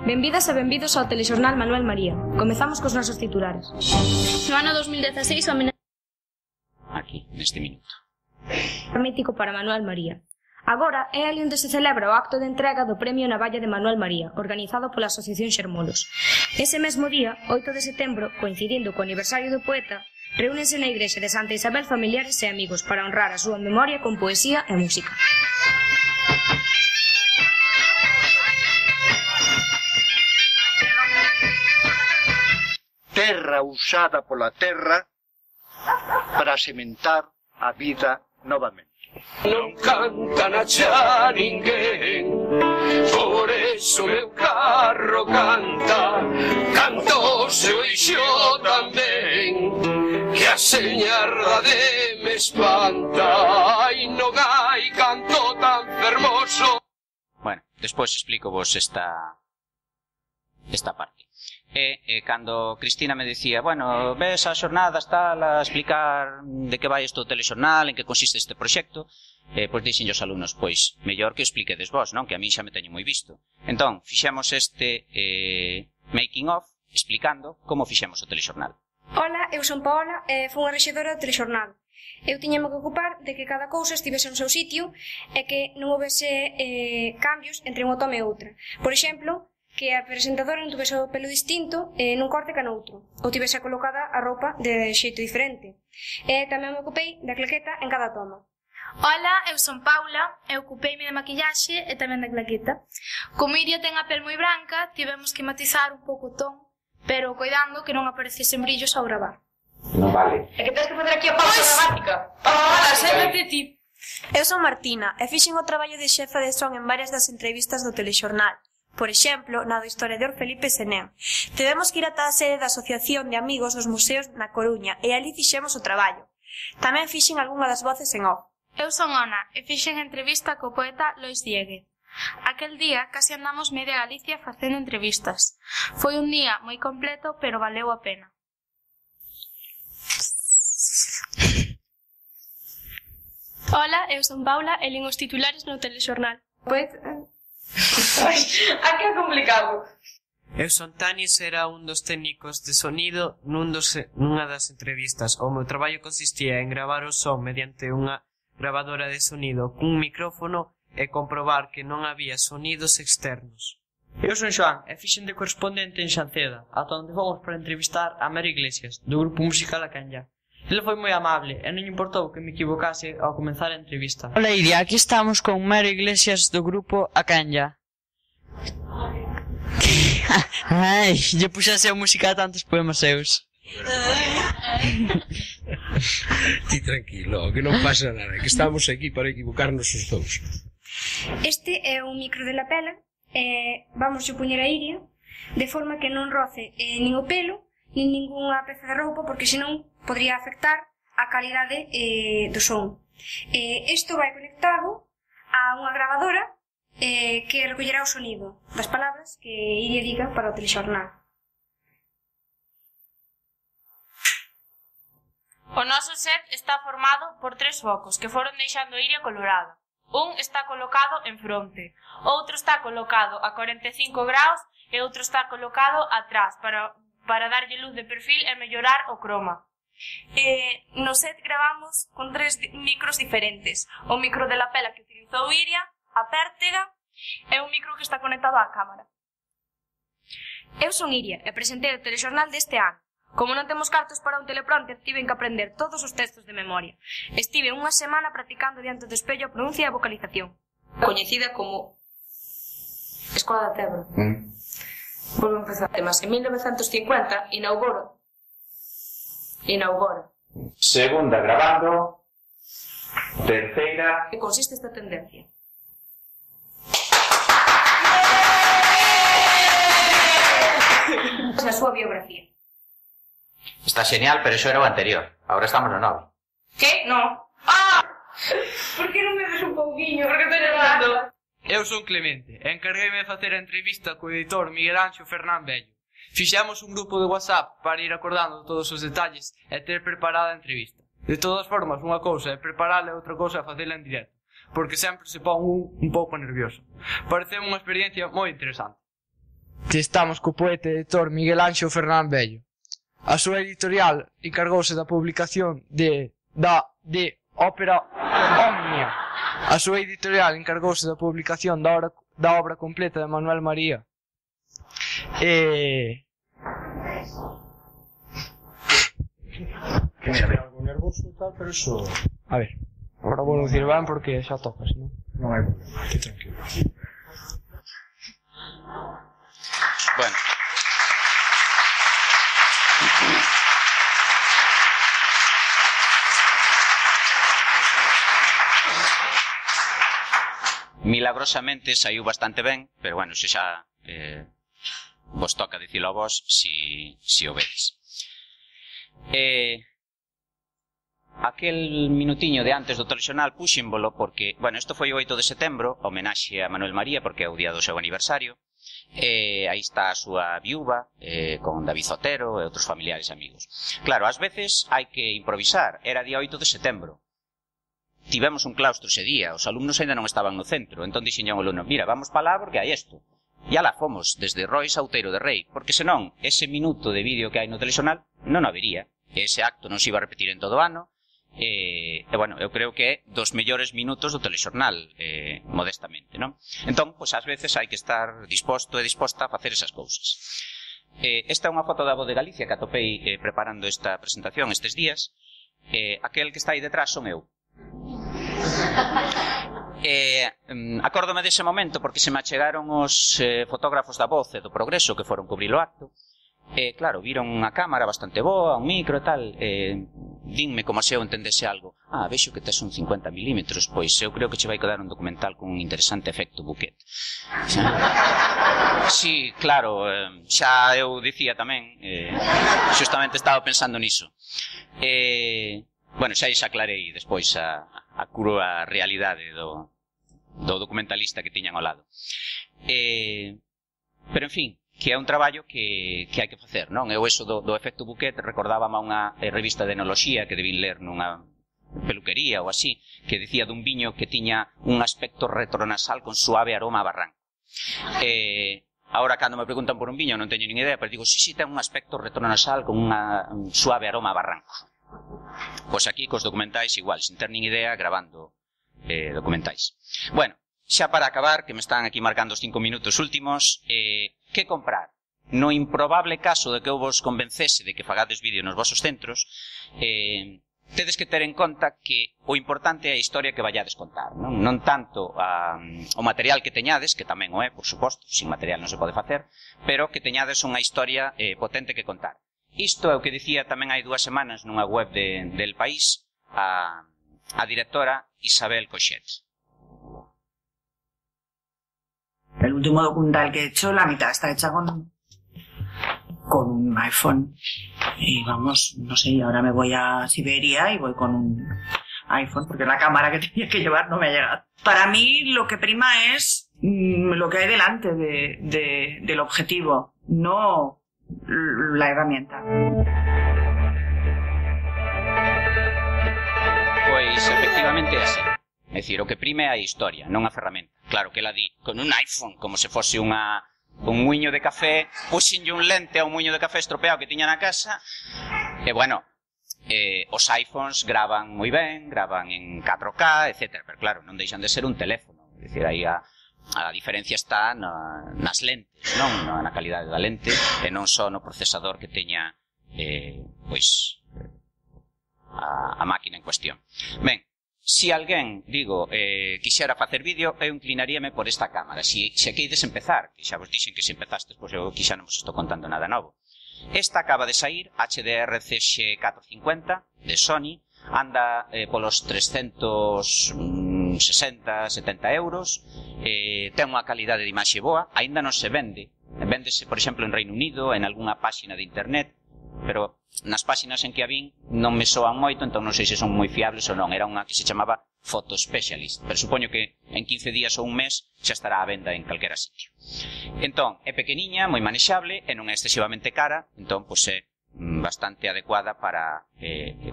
Speaker 12: Benvidas e benvidos ao telexornal Manuel María. Comezamos cos nosos titulares.
Speaker 3: No ano 2016 o
Speaker 2: aquí, neste minuto.
Speaker 12: Mítico para Manuel María. Agora é ali onde se celebra o acto de entrega do Premio Navalla de Manuel María, organizado pola Asociación Xermolos. Ese mesmo día, 8 de setembro, coincidindo co aniversario do poeta, reúnense na igrexa de Santa Isabel familiares e amigos para honrar a súa memoria con poesía e música.
Speaker 14: Terra usada pola terra para sementar a vida novamente.
Speaker 15: Non canta na xa ninguén, por eso meu carro canta, canto seu ixo tamén, que a señarda de me espanta, ai non hai canto tan fermoso.
Speaker 2: Bueno, despois explico vos esta parte. E cando Cristina me dicía, bueno, ves as xornadas tal, a explicar de que vai isto o telexornal, en que consiste este proxecto, pois dixen os alumnos, pois, mellor que o expliquedes vos, non? Que a mí xa me teño moi visto. Entón, fixemos este making of, explicando como fixemos o telexornal.
Speaker 16: Ola, eu son Paola e fui unha rexedora do telexornal. Eu tiñame que ocupar de que cada cousa estivese no seu sitio e que non houbese cambios entre unha toma e outra. Por exemplo, que a presentadora non tuvese o pelo distinto nun corte que noutro, ou tivese colocada a roupa de xeito diferente. E tamén me ocupei da claqueta en cada toma.
Speaker 3: Ola, eu son Paula, e ocupeime da maquillaxe e tamén da claqueta. Como Iria ten a pel moi branca, tivemos que matizar un pouco o ton, pero coidando que non aparecesen brillos ao gravar.
Speaker 11: Non vale.
Speaker 8: É que tens que fazer aquí a pausa dramática. Ola, séntate ti.
Speaker 6: Eu son Martina e fixen o traballo de xefa de son en varias das entrevistas do telexornal. Por exemplo, na do historiador Felipe Senén. Tivemos que ir ata a sede da Asociación de Amigos dos Museos na Coruña e ali fixemos o traballo. Tamén fixen algunha das voces en off.
Speaker 3: Eu son Ona e fixen entrevista co poeta Lois Diegue. Aquel día casi andamos media Galicia facendo entrevistas. Foi un día moi completo, pero valeu a pena.
Speaker 17: Ola, eu son Paula e lin os titulares no telexornal.
Speaker 8: Pois... Aquí é complicado.
Speaker 11: Eu son Tanis, era un dos técnicos de sonido nunha das entrevistas. O meu traballo consistía en gravar o son mediante unha grabadora de sonido cun micrófono e comprobar que non había sonidos externos.
Speaker 18: Eu son Xoán e fixen de correspondente en Xanceda, ata onde fomos para entrevistar a Mary Iglesias, do grupo musical A Canya. Ele foi moi amable e non importou que me equivocase ao comenzar a entrevista.
Speaker 19: Hola Iria, aquí estamos con Mary Iglesias do grupo A Canya. Ai, lle puxase a música a tantos poemas seus.
Speaker 20: Ti tranquilo, que non pasa nada, que estamos aquí para equivocarnos os dous.
Speaker 16: Este é un micro de lapela e vamos a poñer a Iria de forma que non roce nin o pelo nin ningunha peza de roupa porque senón podría afectar a calidade do son. Isto vai conectado a unha grabadora que recollerá o sonido das palabras que Iria diga para o telexornal.
Speaker 8: O noso set está formado por 3 focos que foron deixando Iria colorada. Un está colocado en fronte, outro está colocado a 45 graus e outro está colocado atrás para darlle luz de perfil e mellorar o croma.
Speaker 17: No set gravamos con 3 micros diferentes. O micro de lapela que utilizou Iria, a pértiga e un micro que está conectado á cámara.
Speaker 16: Eu son Iria e presentei o telexornal deste ano.
Speaker 12: Como non temos cartos para un teleprompter, tiven que aprender todos os textos de memoria. Estive unha semana practicando diante do espello a pronuncia e a vocalización. Coñecida como Escola da Tebra. Volvo a empezar. Además, en 1950 inaugura.
Speaker 2: Segunda grabando. Terceira.
Speaker 12: Que consiste esta tendencia? A súa biografía.
Speaker 2: Está genial, pero iso era o anterior. Ahora estamos no novo.
Speaker 12: Que? No. Ah! Por que non me des un pouquiño? Porque estou nervando.
Speaker 18: Eu son Clemente e encargueime de facer a entrevista co editor Miguel Anxo Fernán Bello. Fixamos un grupo de WhatsApp para ir acordando todos os detalles e ter preparada a entrevista. De todas formas, unha cousa é prepararla e outra cousa é facela en directo, porque sempre se pon un pouco nervioso. Parece unha experiencia moi interesante. Estamos co poeta e editor Miguel Anxo Fernán Bello. A súa editorial encargouse da publicación de Ópera Omnia. A súa editorial encargouse da publicación da obra completa de Manuel María.
Speaker 20: Algo nervoso e tal, pero eso...
Speaker 18: A ver, agora vou dicir ben porque xa tocas, non?
Speaker 20: Non hai problema, aquí tranquilo.
Speaker 2: Bueno. Milagrosamente saiu bastante ben, pero bueno, se xa vos toca dicilo a vos si o vedes. Aquel minutiño de antes do telexornal puxímbolo porque, bueno, isto foi o 8 de setembro, homenaxe a Manuel María porque é o día do seu aniversario. Aí está a súa viúva con David Zotero e outros familiares e amigos. Claro, ás veces hai que improvisar. Era día 8 de setembro. Tivemos un claustro ese día, os alumnos ainda non estaban no centro, entón dixen ao alumno, mira, vamos pa lá porque hai isto. E alá fomos, desde Rois a Outeiro de Rei, porque senón, ese minuto de vídeo que hai no telexornal non habería. Ese acto non se iba a repetir en todo o ano, e, bueno, eu creo que é dos mellores minutos do telexornal, modestamente, non? Entón, pois, ás veces hai que estar disposto e disposta a facer esas cousas. Esta é unha foto da Voz de Galicia que atopei preparando esta presentación estes días. Aquel que está aí detrás son eu. Acórdome dese momento porque se me achegaron os fotógrafos da Voz e do Progreso que foron cubrir o acto. Claro, viron unha cámara bastante boa, un micro e tal, dinme como se eu entendese algo. Vexo que tes un 50 milímetros, pois eu creo que che vai quedar un documental con un interesante efecto buquet. Sí, claro, xa eu dicía tamén, xustamente estaba pensando niso. Bueno, xa aclarei despois a crúa realidade do documentalista que tiñan ao lado. Pero, en fin, que é un traballo que hai que facer, non? Eu eso do efecto buquet recordábame a unha revista de enoloxía que debín ler nunha peluquería ou así, que dicía dun viño que tiña un aspecto retronasal con suave aroma a barranco. Ahora, cando me preguntan por un viño, non teño nin idea, pero digo, sí, ten un aspecto retronasal con un suave aroma a barranco. Pois aquí, cos documentais, igual, sin ter nin idea, grabando documentais. Bueno, xa para acabar, que me están aquí marcando os 5 minutos últimos, que comprar? No improbable caso de que eu vos convencese de que fagades vídeo nos vosos centros, tedes que ter en conta que o importante é a historia que vallades contar, non tanto o material que teñades, que tamén o é, por suposto, sin material non se pode facer, pero que teñades unha historia potente que contar. Isto é o que dicía tamén hai 2 semanas nunha web del País a directora Isabel Coixet.
Speaker 21: El último documental que he hecho, la mitad está hecha con un iPhone. Y vamos, no sé, ahora me voy a Siberia y voy con un iPhone, porque la cámara que tenía que llevar no me ha llegado. Para mí lo que prima es lo que hay delante del objetivo, no la herramienta.
Speaker 2: Pois, efectivamente, é así. É dicir, o que prime é a historia, non a ferramenta. Claro que ela di, con un iPhone, como se fose un muiño de café, puxenlle un lente a un muiño de café estropeado que tiña na casa, e bueno, os iPhones gravan moi ben, gravan en 4K, etc. Pero claro, non deixan de ser un teléfono. É dicir, aí a diferencia está nas lentes, non na calidade da lente, e non só no procesador que teña pois a máquina en cuestión. Ben, se alguén, digo, quixera facer vídeo, eu inclinaríame por esta cámara. Se aquí ides empezar, que xa vos dixen que se empezastes, pois eu aquí xa non vos estou contando nada novo. Esta acaba de sair, HDR CX450 de Sony, anda polos 360, 70 euros, ten unha calidade de imaxe boa, aínda non se vende, véndese, por exemplo, en Reino Unido, en algunha páxina de internet, pero nas páxinas en que a vin non me soan moito, entón non sei se son moi fiables ou non. Era unha que se chamaba Photo Specialist, pero supoño que en 15 días ou un mes xa estará a venda en calquera sitio. Entón, é pequeniña, moi manexable, e non é excesivamente cara, entón, pois é bastante adecuada para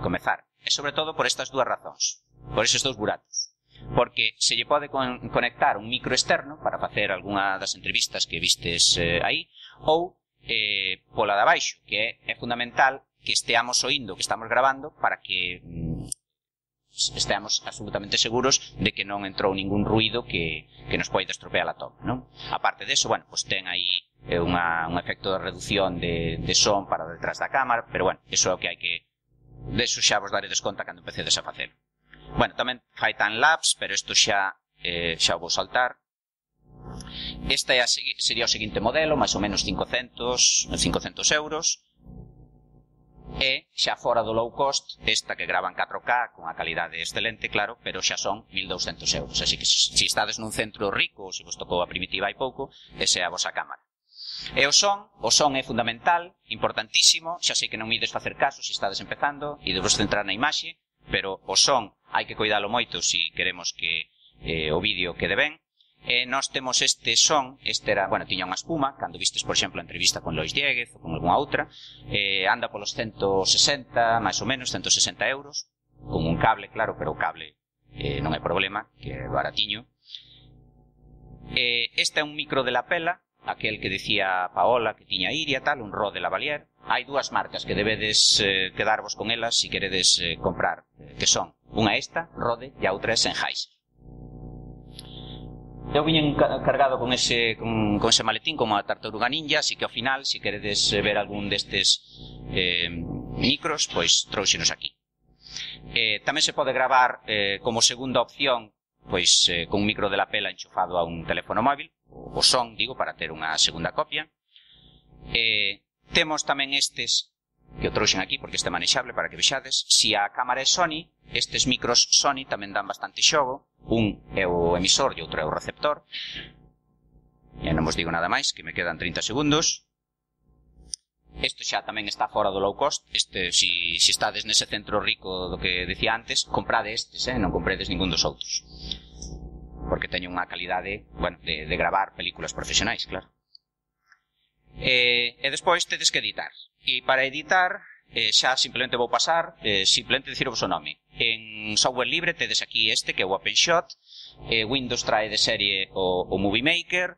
Speaker 2: comezar. E sobre todo por estas dúas razóns, por eses dous buratos. Porque se lle pode conectar un micro externo para facer algunha das entrevistas que vistes aí, ou pola de abaixo, que é fundamental que esteamos oindo, que estamos grabando, para que esteamos absolutamente seguros de que non entrou ningún ruido que nos poida estropear a toma, non? Aparte deso, bueno, pues ten aí un efecto de reducción de son para detrás da cámara, pero bueno, eso é o que hai que... Deso xa vos daredes conta cando empecedes a facer. Bueno, tamén fai time-lapse, pero isto xa o vou saltar. Este sería o seguinte modelo, máis ou menos 500 euros. E xa fora do low cost, esta que grava en 4K con a calidade excelente, claro, pero xa son 1200 euros. Así que se estades nun centro rico, ou se vos tocou a primitiva hai pouco, esa é a vosa cámara. E o son é fundamental, importantísimo. Xa sei que non me ides facer caso se estades empezando e debos centrar na imaxe, pero o son hai que cuidalo moito se queremos que o vídeo quede ben. Nós temos este son, tiña unha espuma, cando vistes, por exemplo, a entrevista con Lois Dieguez ou con algunha outra, anda polos 160, máis ou menos, 160 euros, con un cable, claro, pero o cable non é problema, que é baratiño. Este é un micro de lapela, aquel que decía Paola que tiña Iria, tal, un Rode Lavalier. Hai dúas marcas que debedes quedarvos con elas se queredes comprar, que son unha esta, Rode, e a outra é Sennheiser. Eu viñen cargado con ese maletín como a Tartaruga Ninja, así que ao final, se queredes ver algún destes micros, pois trouxenos aquí. Tamén se pode gravar como segunda opción, pois con un micro de lapela enchufado a un teléfono móvil, o son, digo, para ter unha segunda copia. Temos tamén estes, que o trouxen aquí porque este é manexable para que vexades. Se a cámara é Sony, estes micros Sony tamén dan bastante xogo. Un é o emisor e outro é o receptor. E non vos digo nada máis, que me quedan 30 segundos. Isto xa tamén está fora do low cost. Se estades nese centro rico do que decía antes, comprade estes, non compredes ningún dos outros. Porque teñen unha calidade, bueno, de gravar películas profesionais, claro. E despois tedes que editar. E para editar, xa simplemente vou pasar, simplemente dicirvos o nome. En software libre tedes aquí este, que é o OpenShot. Windows trae de serie o Movie Maker.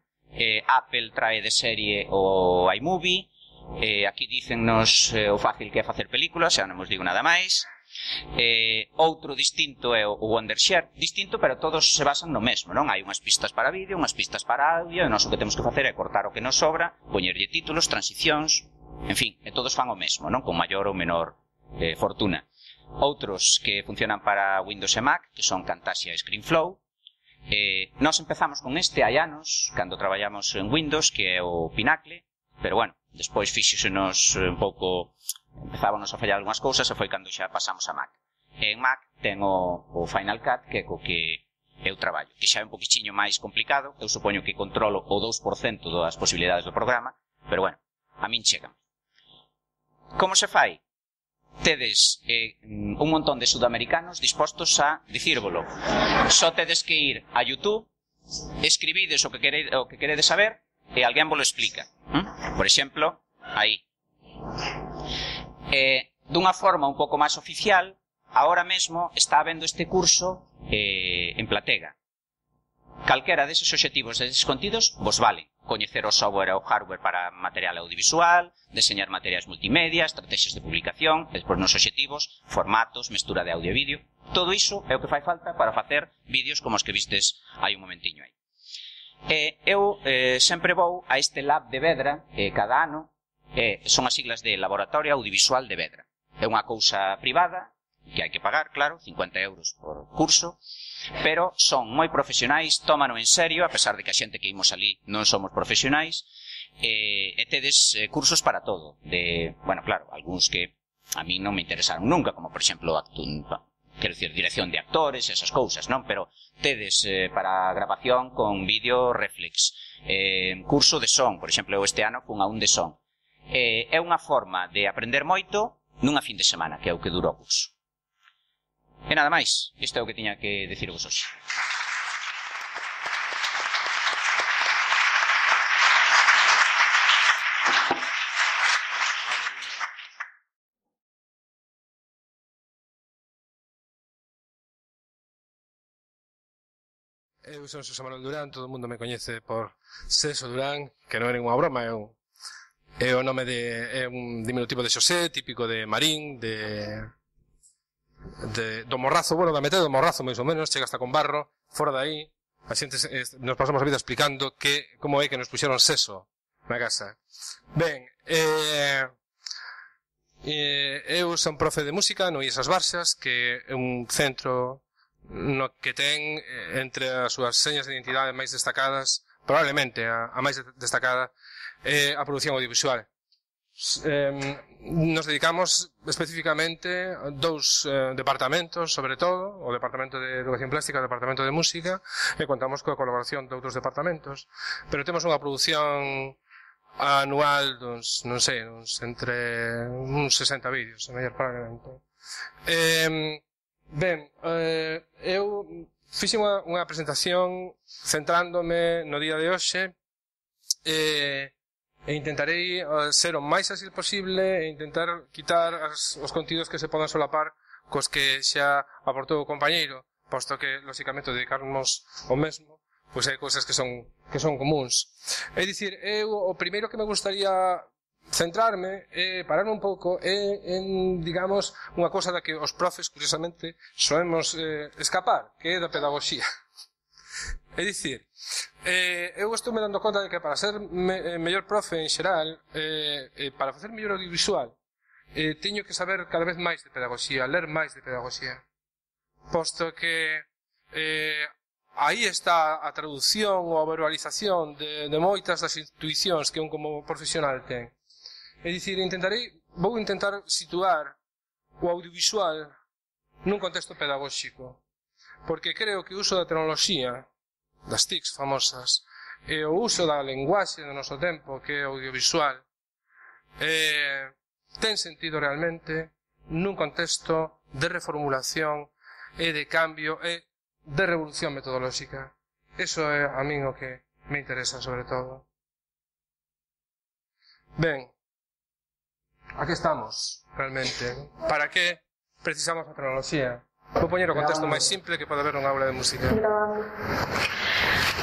Speaker 2: Apple trae de serie o iMovie. Aquí dícennos o fácil que é facer películas, xa non vos digo nada máis. Outro distinto é o Wondershare. Distinto, pero todos se basan no mesmo, non? Hai unhas pistas para vídeo, unhas pistas para audio, e nós o que temos que facer é cortar o que nos sobra, poñerlle títulos, transicións, en fin, e todos fan o mesmo, non? Con maior ou menor fortuna. Outros que funcionan para Windows e Mac, que son Camtasia e ScreenFlow. Nós empezamos con este hai anos, cando traballamos en Windows, que é o Pinacle, pero bueno, despois fíxosenos un pouco, empezábamos a fallar algunhas cousas e foi cando xa pasamos a Mac. En Mac ten o Final Cut, que é co que eu traballo, que xa é un poquichiño máis complicado. Eu supoño que controlo o 2% das posibilidades do programa, pero bueno, a min chegan. Como se fai? Tedes un montón de sudamericanos dispostos a dicírvolo. Só tedes que ir a YouTube, escribides o que queredes saber e alguén vos lo explica. Por exemplo, aí. Dunha forma un pouco máis oficial, ahora mesmo está habendo este curso en Platega. Calquera deses obxectivos deses contidos vos vale. Coñecer o software e o hardware para material audiovisual, deseñar materiais multimedia, estrategias de publicación, despois nos obxectivos, formatos, mestura de audio e vídeo. Todo iso é o que fai falta para facer vídeos como os que vistes hai un momentiño aí. Eu sempre vou a este lab de Vedra cada ano son as siglas de Laboratorio Audiovisual de Vedra. É unha cousa privada, que hai que pagar, claro, 50 euros por curso, pero son moi profesionais, tómano en serio, a pesar de que a xente que imos ali non somos profesionais, e tedes cursos para todo. Bueno, claro, algúns que a mí non me interesaron nunca, como por exemplo quero dicir, dirección de actores, esas cousas, non? Pero tedes para grabación con vídeo reflex, curso de son, por exemplo, eu este ano fun a un de son. É unha forma de aprender moito nunha fin de semana, que é o que dura o curso. E nada máis, isto é o que tiña que dicirvos hoxe.
Speaker 20: Eu son Xosé Manuel Durán, todo o mundo me coñece por Seso Durán, que non é ninguna broma, é o nome é un diminutivo de Xosé, típico de Marín, do Morrazo, bueno, da metade do Morrazo, máis ou menos, chega hasta con Barro, fora de aí, a xente nos pasamos a vida explicando como é que nos puxeron Seso na casa. Ben, eu son profe de música no IES As Barzas, que é un centro no que ten entre as súas señas de identidade máis destacadas, probablemente a máis destacada, a produción audiovisual. Nos dedicamos especificamente a dous departamentos, sobre todo, o Departamento de Educación Plástica e o Departamento de Música, e contamos coa colaboración de outros departamentos, pero temos unha produción anual non sei, entre uns 60 vídeos, a mellor probablemente. Ben, eu fixen unha presentación centrándome no día de hoxe e intentarei ser o máis áxil posible e intentar quitar os contidos que se podan solapar cos que xa aportou o compañeiro, posto que, lóxicamente, dedicarnos ao mesmo, pois hai cousas que son comuns. É dicir, eu o primeiro que me gustaría centrarme e pararme un pouco en, digamos, unha cousa da que os profes, curiosamente, soemos escapar, que é da pedagogía. É dicir, eu estou me dando conta de que para ser mellor profe en xeral, para facer mellor audiovisual, teño que saber cada vez máis de pedagogía, ler máis de pedagogía. Posto que aí está a traducción ou a verbalización de moitas das intuicións que un como profesional ten. É dicir, vou intentar situar o audiovisual nun contexto pedagóxico, porque creo que o uso da tecnoloxía, das TICs famosas, e o uso da lenguaxe do noso tempo, que é audiovisual, ten sentido realmente nun contexto de reformulación e de cambio e de revolución metodolóxica. Eso é a min o que me interesa sobre todo. Ben, aquí estamos, realmente. Para que precisamos a tecnoloxía? Vou poñer o contexto máis simple que pode haber nunha aula de música.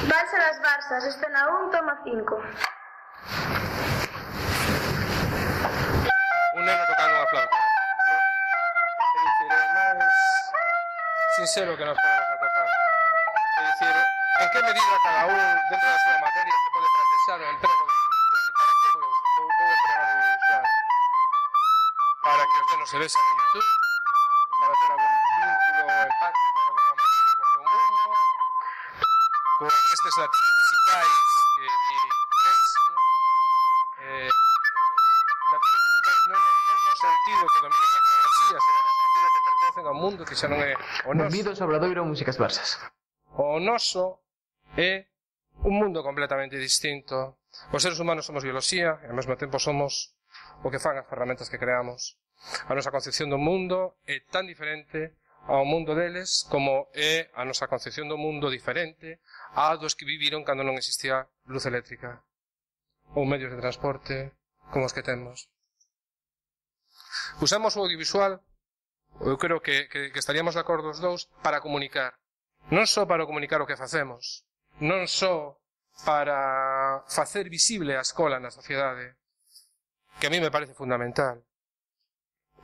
Speaker 4: Valse das Barzas, escena 1, toma 5.
Speaker 20: Un neno tocando unha flauta. É dicir, é máis sincero que nos podemos atopar. É dicir, en que medida cada un dentro da súa materia se pode practicar o emprego do audiovisual? Para que vou empregar o audiovisual? Para que os nenos se vexan en YouTube, para ter algún vínculo empático de alguna maneira co seu mundo, con estes latinos musicais que di Prensky, latinos musicais non no sentido que dominan a tecnoloxía, sino no sentido que pertencen ao mundo que xa non é o noso.
Speaker 1: Benvidos ao Obradoiro Músicas Barzas.
Speaker 20: O noso é un mundo completamente distinto. Os seres humanos somos bioloxía e ao mesmo tempo somos o que fan as ferramentas que creamos. A nosa concepción do mundo é tan diferente ao mundo deles como é a nosa concepción do mundo diferente a dos que viviron cando non existía luz eléctrica ou medios de transporte como os que temos. Usamos o audiovisual, eu creo que estaríamos de acordo os dous, para comunicar. Non só para comunicar o que facemos, non só para facer visible a escola na sociedade, que a mí me parece fundamental,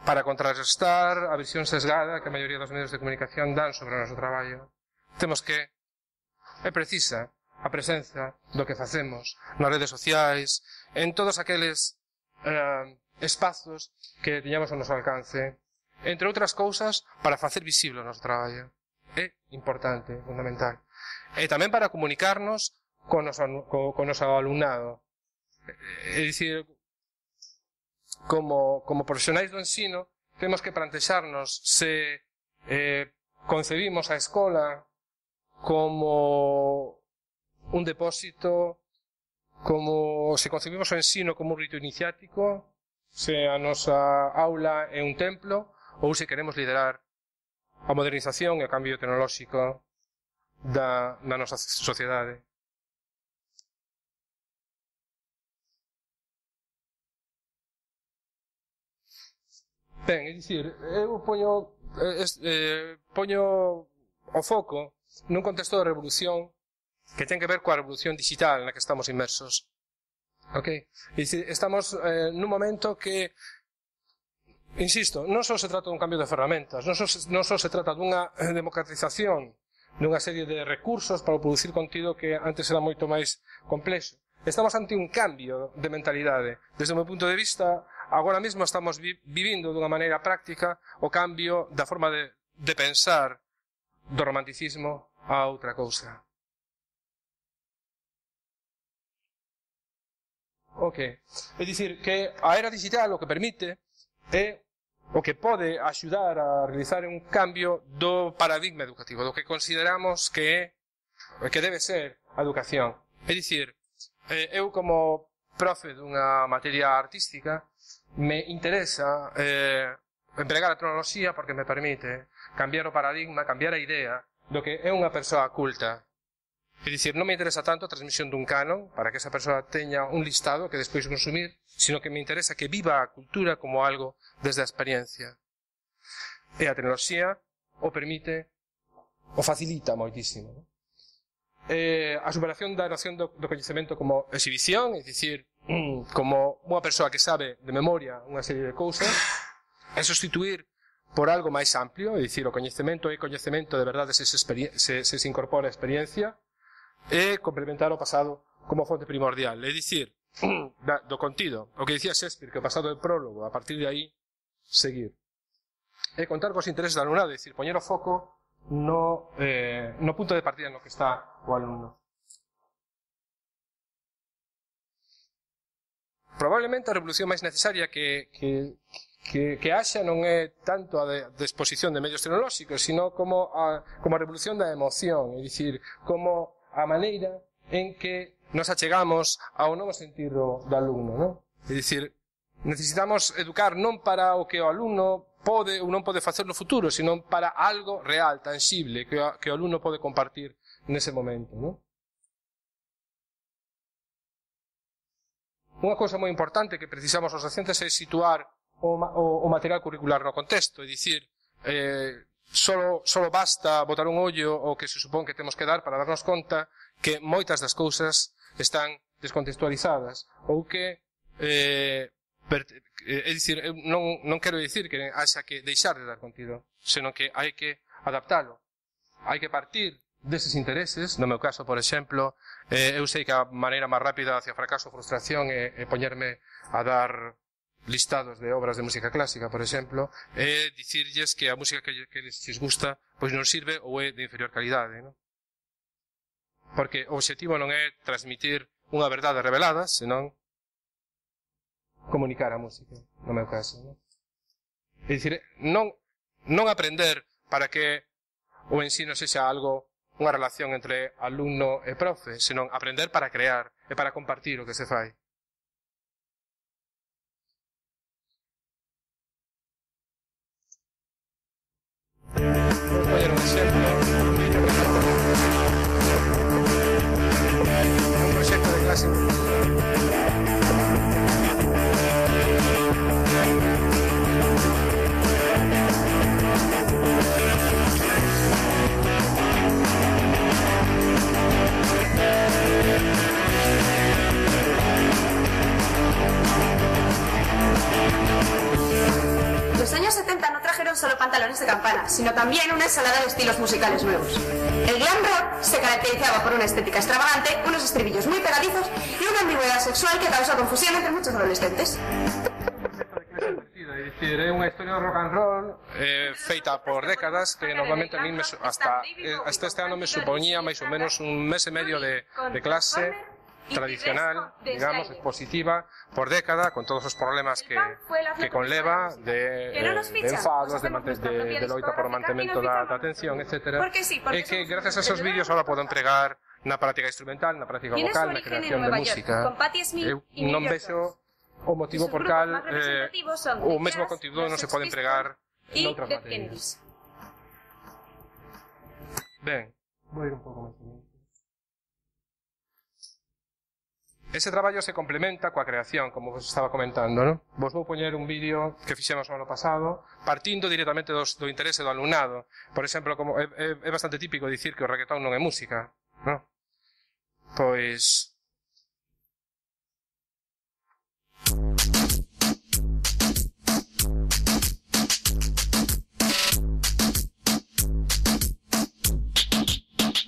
Speaker 20: para contrarrestar a visión sesgada que a maioría dos medios de comunicación dan sobre o noso traballo. Temos que é precisa a presenza do que facemos nas redes sociais, en todos aqueles espazos que teñamos ao noso alcance, entre outras cousas, para facer visible o noso traballo. É importante, fundamental. E tamén para comunicarnos con o noso alumnado. É dicir, como profesionais do ensino, temos que plantexarnos se concebimos a escola como un depósito, como se concebimos o ensino como un rito iniciático, se a nosa aula é un templo, ou se queremos liderar a modernización e o cambio tecnolóxico da nosa sociedade. Ben, é dicir, eu poño o foco nun contexto de revolución que ten que ver coa revolución digital na que estamos inmersos. Ok? É dicir, estamos nun momento que, insisto, non só se trata dun cambio de ferramentas, non só se trata dunha democratización dunha serie de recursos para producir contido que antes era moito máis complexo. Estamos ante un cambio de mentalidade. Desde o meu punto de vista, agora mesmo estamos vivindo dunha maneira práctica o cambio da forma de pensar do romanticismo a outra cousa. Ok. É dicir, que a era digital o que permite é o que pode axudar a realizar un cambio do paradigma educativo, do que consideramos que debe ser a educación. É dicir, eu como profe dunha materia artística me interesa empregar a tecnoloxía porque me permite cambiar o paradigma, cambiar a idea do que é unha persoa culta. É dicir, non me interesa tanto a transmisión dun canon para que esa persoa teña un listado que despois consumir, sino que me interesa que viva a cultura como algo desde a experiencia. E a tecnoloxía o permite, o facilita moitísimo. A superación da noción do coñecemento como exhibición, é dicir, como unha persoa que sabe de memoria unha serie de cousas, é sustituir por algo máis amplio, é dicir, o coñecemento é coñecemento de verdade se incorpora a experiencia, e complementar o pasado como fonte primordial. É dicir, do contido, o que dicía Shakespeare, que o pasado é prólogo, a partir de aí, seguir. E contar cos intereses do alumnado, é dicir, poñer o foco no punto de partida no que está o alumno. Probablemente a revolución máis necesaria que haxa non é tanto a de exposición de medios tecnolóxicos, sino como a revolución da emoción, é dicir, como a maneira en que nos achegamos ao novo sentido do alumno, non? É dicir, necesitamos educar non para o que o alumno pode ou non pode facer no futuro, sino para algo real, tangible, que o alumno pode compartir nese momento, non? Unha cousa moi importante que precisamos os docentes é situar o material curricular no contexto, é dicir, solo basta botar un ollo o que se supón que temos que dar para darnos conta que moitas das cousas están descontextualizadas ou que é dicir, non quero dicir que haxa que deixar de dar contido, senón que hai que adaptalo, hai que partir deses intereses. No meu caso, por exemplo, eu sei que a maneira máis rápida hacia fracaso ou frustración é poñerme a dar listados de obras de música clásica, por exemplo, e dicirlles que a música que les gusta pois non sirve ou é de inferior calidade, non? Porque o objetivo non é transmitir unha verdade revelada, senón comunicar a música, no meu caso, non? É dicir, non aprender para que o ensino sexa algo, unha relación entre alumno e profe, senón aprender para crear e para compartir o que se fai. Vou poñer un exemplo. Un proxecto de clase.
Speaker 1: solo pantalones de campana, sino también una ensalada de estilos musicales nuevos. El glam rock se caracterizaba por una estética extravagante, unos estribillos muy pegadizos y una ambigüedad sexual que causó confusión entre muchos adolescentes.
Speaker 20: É dicir, é unha historia de rock and roll feita por décadas que normalmente a mí hasta este ano me supoñía máis ou menos un mes e medio de clase tradicional, digamos, expositiva por década, con todos os problemas que conleva de enfados, de loita por o mantemento da atención, etc. E que gracias a esos vídeos ahora podo empregar na práctica instrumental, na práctica vocal, na creación de música. Eu non vexo o motivo por cal o mesmo contido non se pode empregar noutras materias. Ben, vou ir un pouco máis. Ese traballo se complementa coa creación, como vos estaba comentando, non? Vos vou poñer un vídeo que fixemos o ano pasado, partindo directamente do interese do alumnado. Por exemplo, como é bastante típico dicir que o reggaetón non é música, non? Pois...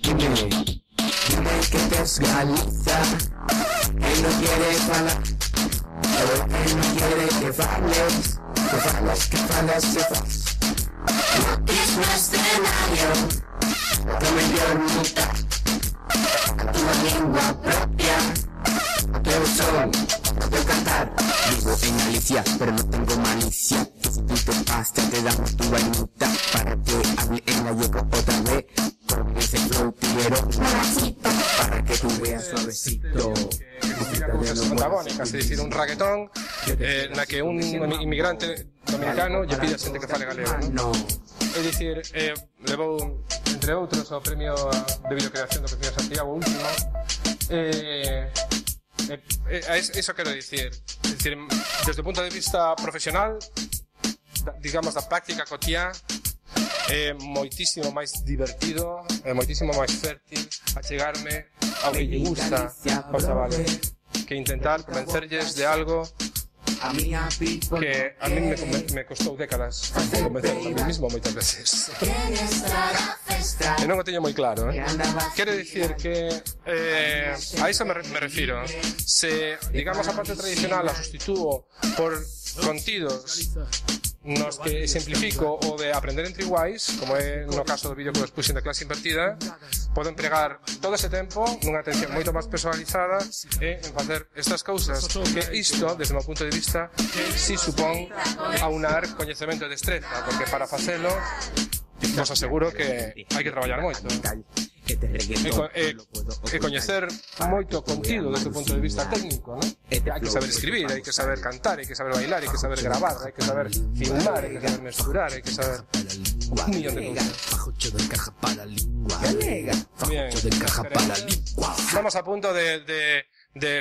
Speaker 15: Dime que te es Galicia, que no quiere falar, que no quiere que fales, que fales. No es un escenario, tu mellor mitad, a tua lengua propia, o teu son, o teu cantar. Vivo en Galicia, pero no tengo malicia, que si tú te pasas te damos tu vainita, para que hable en gallego otra vez. Con ese flow quiero para que tú veas suavecito.
Speaker 20: Cousas antagónicas, é dicir, un reggaetón na que un inmigrante dominicano lle pide a xente que fale galego, non? É dicir, levou, entre outros, o premio de videocreación do Cociña Santiago último. Eso quero dicir. É dicir, desde o punto de vista profesional, digamos, da práctica cotiá, é moitísimo máis divertido, é moitísimo máis fértil achegarme ao que lle gusta aos chavales que intentar convencerlles de algo que a mí me costou décadas convencerme a mí mismo moitas veces. E non o teño moi claro, Quero dicir que a iso me refiro. Se, digamos, a parte tradicional a sustitúo por contidos nos que simplifico o de aprender entre iguais, como é no caso do vídeo que vos puxen da clase invertida, podo empregar todo ese tempo nunha atención moito máis personalizada e en facer estas cousas, que isto, desde o meu punto de vista, si supón aunar coñecemento e destreza, porque para facelo vos aseguro que hai que traballar moito. E coñecer moito contido desde o punto de vista técnico, non? Hai que saber escribir, hai que saber cantar, hai que saber bailar, hai que saber gravar, hai que saber filmar, hai que saber mesturar, hai que saber un millón de cousas. Bien, estamos a punto de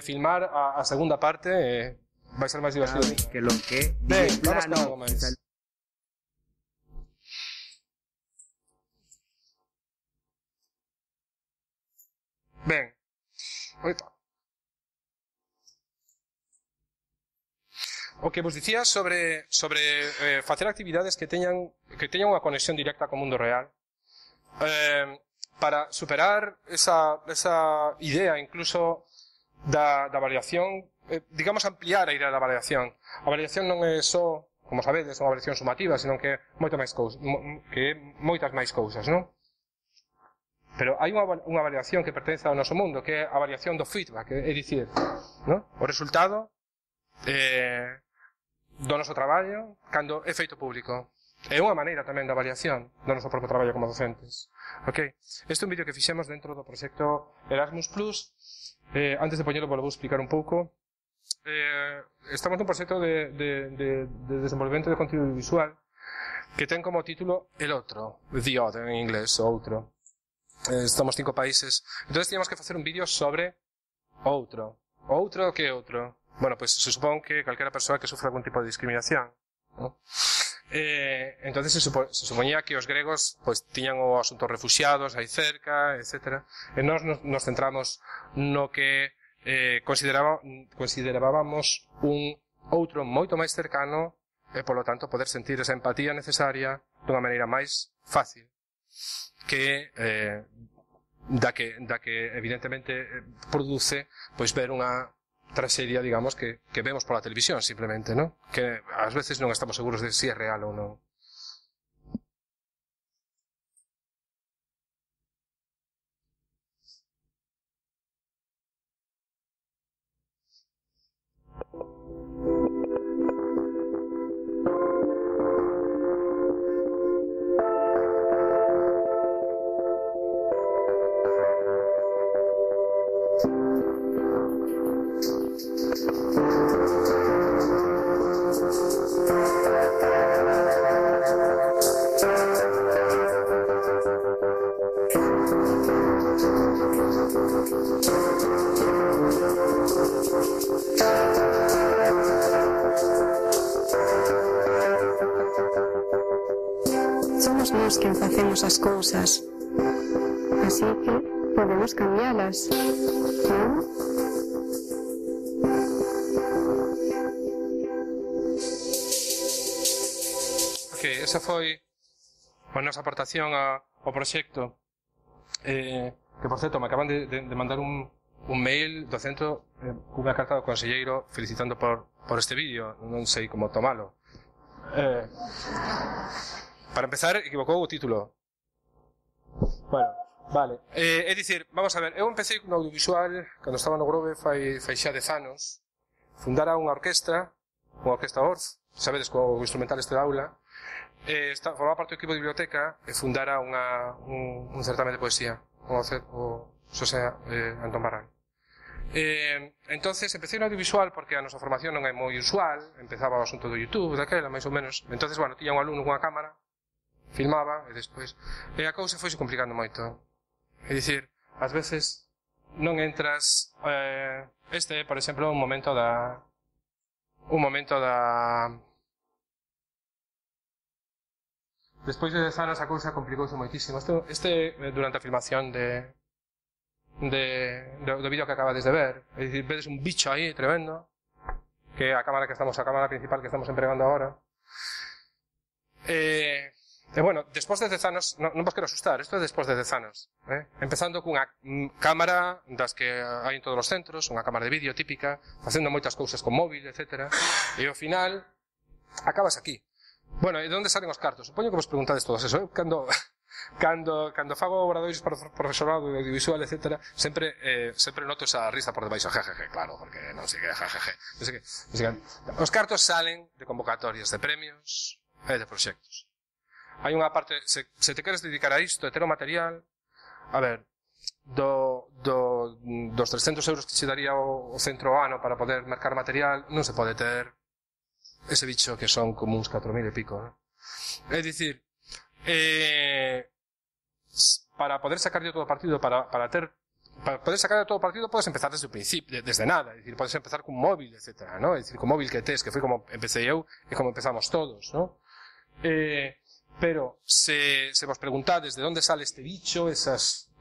Speaker 20: filmar a segunda parte, vai ser máis divertido. Ben, vamos con algo máis. Ben, oita. O que vos dicía sobre facer actividades que teñan unha conexión directa co mundo real, para superar esa idea incluso da variación, digamos ampliar a idea da variación. A variación non é só, como sabedes, unha variación sumativa, senón que moitas máis cousas, non? Pero hai unha variación que pertence ao noso mundo, que é a variación do feedback, é dicir, ¿no? O resultado do noso traballo cando é feito público. É unha maneira tamén da variación do noso propio traballo como docentes. Ok? Este é un vídeo que fixemos dentro do proxecto Erasmus+. Antes de poñelo, vou explicar un pouco. Estamos nun proxecto de desenvolvemento de contido visual que ten como título El Otro, The Other en inglés, o outro. Estamos 5 países. Entonces teníamos que facer un vídeo sobre outro. Outro que é outro? Bueno, pues se supón que calquera persoa que sufra algún tipo de discriminación, ¿no? Entonces se supoñía que os gregos pues tiñan o asunto refuxiados aí cerca, etc. E nós nos centramos no que considerábamos un outro moito máis cercano e, polo tanto, poder sentir esa empatía necesaria dunha maneira máis fácil que da que evidentemente produce pois ver unha traxedia, digamos, que vemos pola televisión simplemente, ¿no? Que ás veces non estamos seguros de si é real ou non.
Speaker 5: Somos nós quen facemos as cousas, así que podemos cambialas, non?
Speaker 20: Ok, esa foi a nosa aportación ao proxecto, que por certo me acaban de mandar un mail do centro cunha carta do conselleiro felicitando por este vídeo, non sei como tomalo. Para empezar, equivocou o título. Bueno, vale. É dicir, vamos a ver, eu empecé con audiovisual cando estaba no Grove fai xa 10 anos. Fundara unha orquestra Orff, sabedes, co instrumental este da aula. Formaba parte do equipo de biblioteca e fundara un certamen de poesía, o Xosé Antón Barral. Entonces empecé no audiovisual porque a nosa formación non é moi usual, empezaba o asunto do YouTube, daquela, máis ou menos. Entonces, bueno, tiña un alumno cunha cámara, filmaba e despois a cousa foise complicando moito. É dicir, ás veces non entras por exemplo, un momento da despois de 10 anos a cousa complicouse moitísimo. Este durante a filmación do vídeo que acabades de ver, é dicir, vedes un bicho aí tremendo, que é a cámara principal que estamos empregando agora. Bueno, despois de 10 anos, non vos quero asustar, isto é despois de 10 anos, empezando cunha cámara das que hai en todos os centros, unha cámara de vídeo típica, facendo moitas cousas con móvil, etc. E ao final, acabas aquí. Bueno, e de onde salen os cartos? Supoño que vos preguntades todos eso, Cando fago obradoiros para profesorado de audiovisual, etc., sempre noto esa risa por debaixo, jejeje, claro, porque non sei que, jejeje. Os cartos salen de convocatorias de premios e de proxectos. Hai unha parte, se te queres dedicar a isto, e ter o material, a ver, dos 300 euros que che daría o centro ano para poder mercar material, non se pode ter ese bicho que son como uns 4.000 e pico, ¿no? É dicir, para poder sacar todo o partido, para poder sacar todo o partido, podes empezar desde o principio, desde nada, é dicir, podes empezar cun móvil, etc., ¿no? É dicir, con móvil que tes, que foi como empecé eu e como empezamos todos, ¿no? Pero se vos preguntades de onde sale este bicho,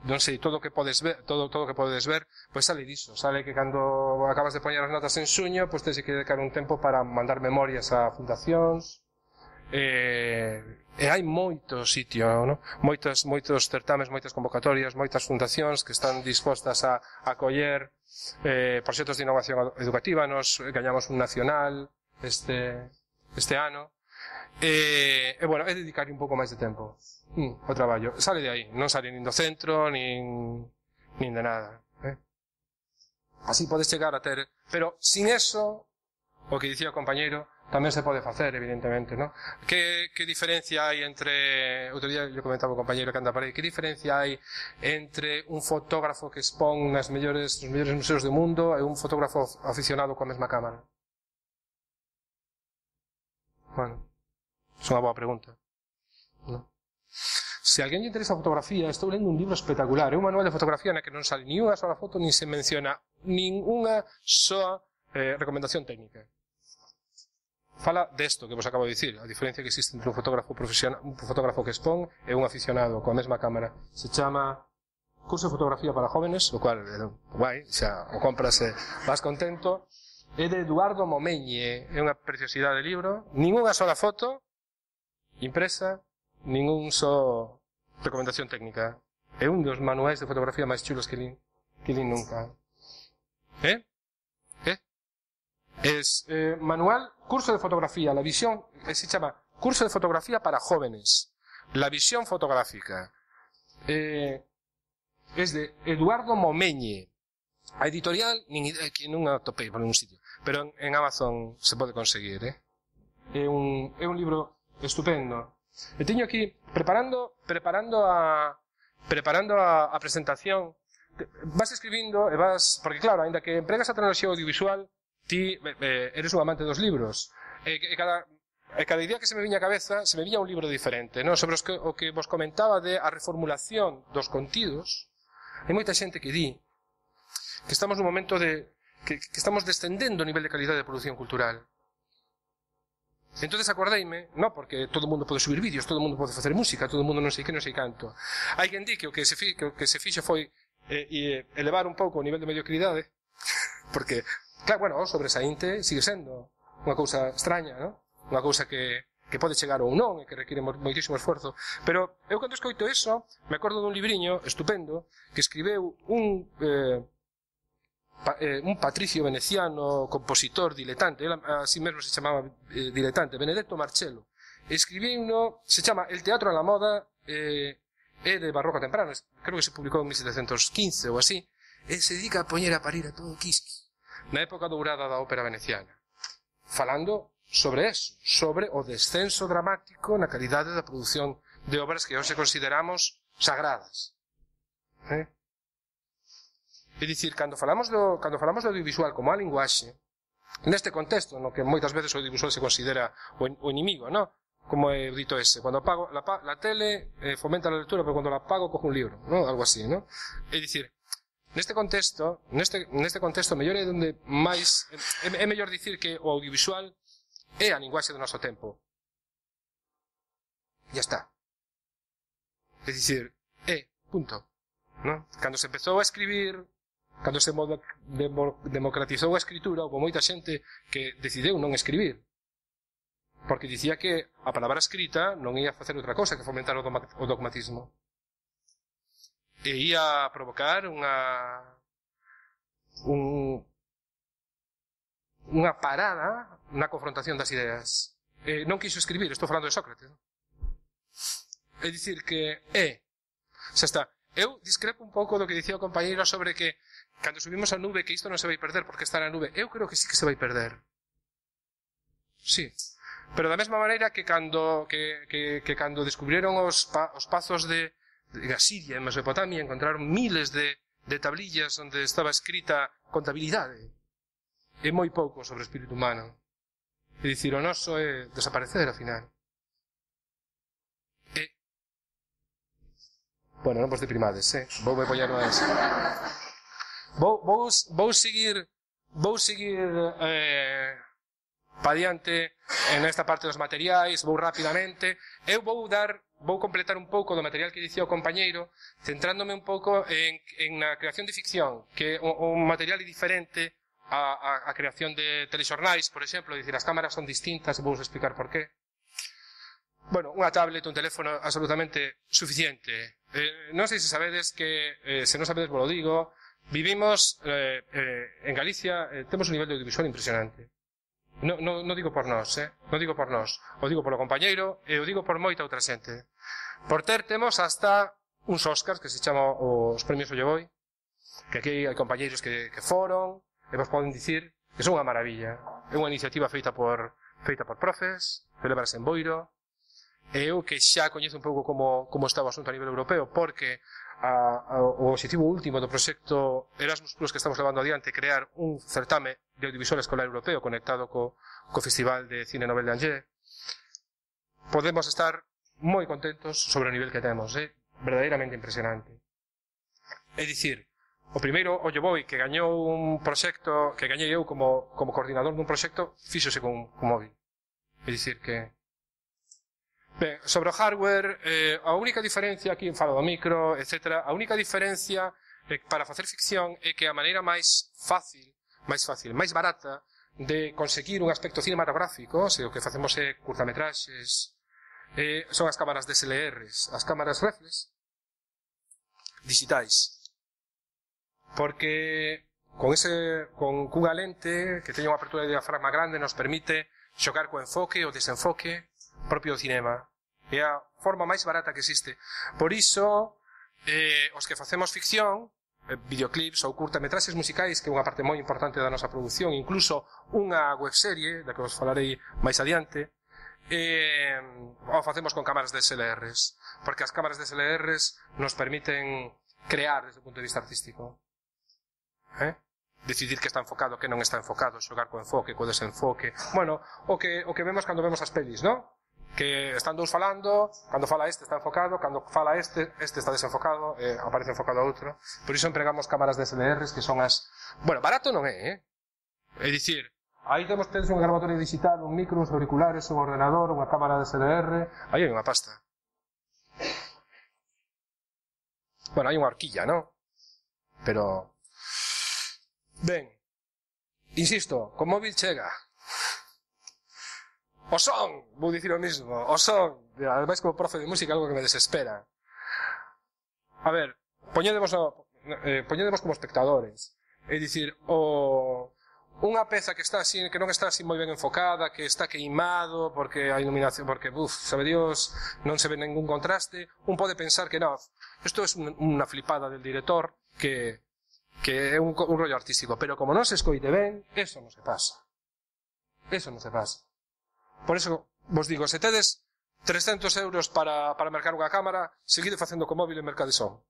Speaker 20: non sei, todo o que podes ver, todo o que podes ver, pois sale diso, sale que cando acabas de poñer as notas en xuño, pois tens que dedicar un tempo para mandar memorias a fundacións, e hai moito sitio, ¿no? Moitos certames, moitas convocatorias, moitas fundacións que están dispostas a acoller proxectos de innovación educativa. Nos gañamos un nacional este ano. Bueno, é dedicar un pouco máis de tempo ao traballo. Sale de aí, non sale nin do centro nin de nada, así podes chegar a ter, pero sin eso, o que dicía o compañeiro, tamén se pode facer, evidentemente, ¿no? Que diferencia hai entre, outro día yo comentaba o compañeiro que anda por aí, que diferencia hai entre un fotógrafo que expón nos mellores museos do mundo e un fotógrafo aficionado coa mesma cámara? Bueno, é unha boa pregunta, ¿no? Se alguén lle interesa a fotografía, estou lendo un libro espectacular, é un manual de fotografía na que non sale ni unha sola foto, ni se menciona ninguna soa recomendación técnica. Fala desto que vos acabo de dicir, a diferencia que existe entre un fotógrafo profesional, un fotógrafo que expón e un aficionado coa mesma cámara. Se chama Curso de Fotografía para Jóvenes, o cual, guai, xa o compras e vas contento. é de Eduardo Momeñe, é unha preciosidade de libro, ninguna sola foto impresa, ningún só recomendación técnica. É un dos manuais de fotografía máis chulos que lín nunca. Es manual, curso de fotografía, la visión, se llama curso de fotografía para jóvenes, la visión fotográfica. Es de Eduardo Momeñe. A editorial, que non a topei por ningún sitio, pero en Amazon se pode conseguir, É un libro estupendo. E teño aquí, preparando a presentación, vas escribindo e vas, porque claro, ainda que empregas a tecnoloxía audiovisual, ti eres un amante dos libros. E cada idea que se me viña a cabeza, se me viña un libro diferente, non? Sobre o que vos comentaba de a reformulación dos contidos, hai moita xente que di que estamos nun momento que estamos descendendo o nivel de calidade de produción cultural. Entonces acordeime, non porque todo o mundo pode subir vídeos, todo o mundo pode facer música, todo o mundo non sei que, non sei canto. Hai quen di que o que se fixo foi elevar un pouco o nivel de mediocridade, porque, claro, bueno, o sobresaínte sigue sendo unha cousa extraña, non? Unha cousa que pode chegar ou non e que require moitísimo esforzo. Pero eu cando escoito eso, me acordo dun libriño estupendo que escribeu un patricio veneciano, compositor, diletante, él así mesmo se chamaba diletante, Benedetto Marcello. Escribiu uno, se chama El teatro a la moda, é de barroco temprano, creo que se publicou en 1715 ou así, e se dedica a poñer a parir a todo quisqui, na época dourada da ópera veneciana, falando sobre eso, sobre o descenso dramático na calidade da produción de obras que hoxe consideramos sagradas. É dicir, cando falamos do audiovisual como a linguaxe, neste contexto no que moitas veces o audiovisual se considera o inimigo, ¿no? Como é dito ese, cando apago la tele fomenta a lectura, pero cando la apago cojo un libro, ¿no? Algo así, ¿no? É dicir, neste contexto mellor é onde máis é mellor dicir que o audiovisual é a linguaxe do noso tempo. Ya está. É dicir, punto, ¿no? Cando se empezou a escribir, cando se democratizou a escritura, houve moita xente que decideu non escribir, porque dicía que a palabra escrita non ia facer outra cosa que fomentar o dogmatismo, e ia provocar unha parada na confrontación das ideas. Non quiso escribir, estou falando de Sócrates, ¿no? É dicir que xa está. Eu discrepo un pouco do que dicía o compañeiro sobre que cando subimos a nube que isto non se vai perder porque está na nube. Eu creo que sí que se vai perder. Sí. Pero da mesma maneira que cando descubriron os pazos de Asiria en Mesopotamia, encontraron miles de tablillas onde estaba escrita contabilidade. É moi pouco sobre o espírito humano. É dicir, o noso é desaparecer, ao final. Bueno, non vos deprimades, Voume poñer no eso. Vou seguir pa diante en esta parte dos materiais, vou rapidamente. Eu vou completar un pouco do material que dicía o compañeiro, centrándome un pouco en na creación de ficción, que un material diferente a creación de telexornais, por exemplo, dicir, as cámaras son distintas, vou explicar por qué. Bueno, unha tablet, un teléfono absolutamente suficiente. Non sei se sabedes que, se non sabedes vos lo digo, vivimos en Galicia, temos un nivel de audiovisual impresionante. Non digo por nós, non digo por nós. O digo polo compañeiro e o digo por moita outra xente. Por temos hasta uns Óscars que se chama os premios Ollevoi, que aquí hai compañeiros que foron e vos poden dicir que son unha maravilla. É unha iniciativa feita por profes, celebrase en Boiro. E eu que xa coñezo un pouco como está o asunto a nivel europeo, porque o objetivo último do proxecto Erasmus Plus que estamos levando adiante, crear un certame de audiovisual escolar europeo conectado co Festival de Cine Nobel de Angers, podemos estar moi contentos sobre o nivel que temos, verdadeiramente impresionante. É dicir, o primeiro Ollevoi que gañou un proxecto, que gañei eu como coordinador dun proxecto, fíxose con móvil. É dicir que ben, sobre o hardware, a única diferencia, aquí falo do micro, etc., a única diferencia para facer ficción é que a maneira máis fácil, máis barata, de conseguir un aspecto cinematográfico, se o que facemos é curtametraxes, son as cámaras DSLRs, as cámaras reflex digitais. Porque con cunha lente que teña unha apertura de diafragma grande nos permite xogar co enfoque ou desenfoque propio do cinema. É a forma máis barata que existe. Por iso, os que facemos ficción, videoclips ou curtametraxes musicais, que é unha parte moi importante da nosa produción, incluso unha webserie, da que vos falarei máis adiante, o facemos con cámaras DSLRs, porque as cámaras DSLRs nos permiten crear desde o punto de vista artístico. Decidir que está enfocado, que non está enfocado, xogar co enfoque, co desenfoque. Bueno, o que vemos cando vemos as pelis, ¿no? Que están dous falando, cando fala este está enfocado, cando fala este está desenfocado, aparece enfocado a outro. Por iso empregamos cámaras DSLRs, que son as... Bueno, barato non é, É dicir, aí temos unha grabatoria digital, un micro, uns auriculares, un ordenador, unha cámara DSLR, aí hai unha pasta. Bueno, hai unha horquilla, ¿no? Pero... Ben, insisto, con móvil chega. O son, vou dicir o mismo, o son. Ademais, como profe de música, algo que me desespera. A ver, poñedemos como espectadores. É dicir, unha peza que está así, que non está así moi ben enfocada, que está queimado, porque a iluminación, porque, sabe Dios, non se ve ningún contraste, un pode pensar que non, isto é unha flipada del director, que é un rollo artístico, pero como non se escoite ben, eso non se pasa. Eso non se pasa. Por eso vos digo, se tedes 300 euros para mercar unha cámara, seguide facendo co móvil e mercade son.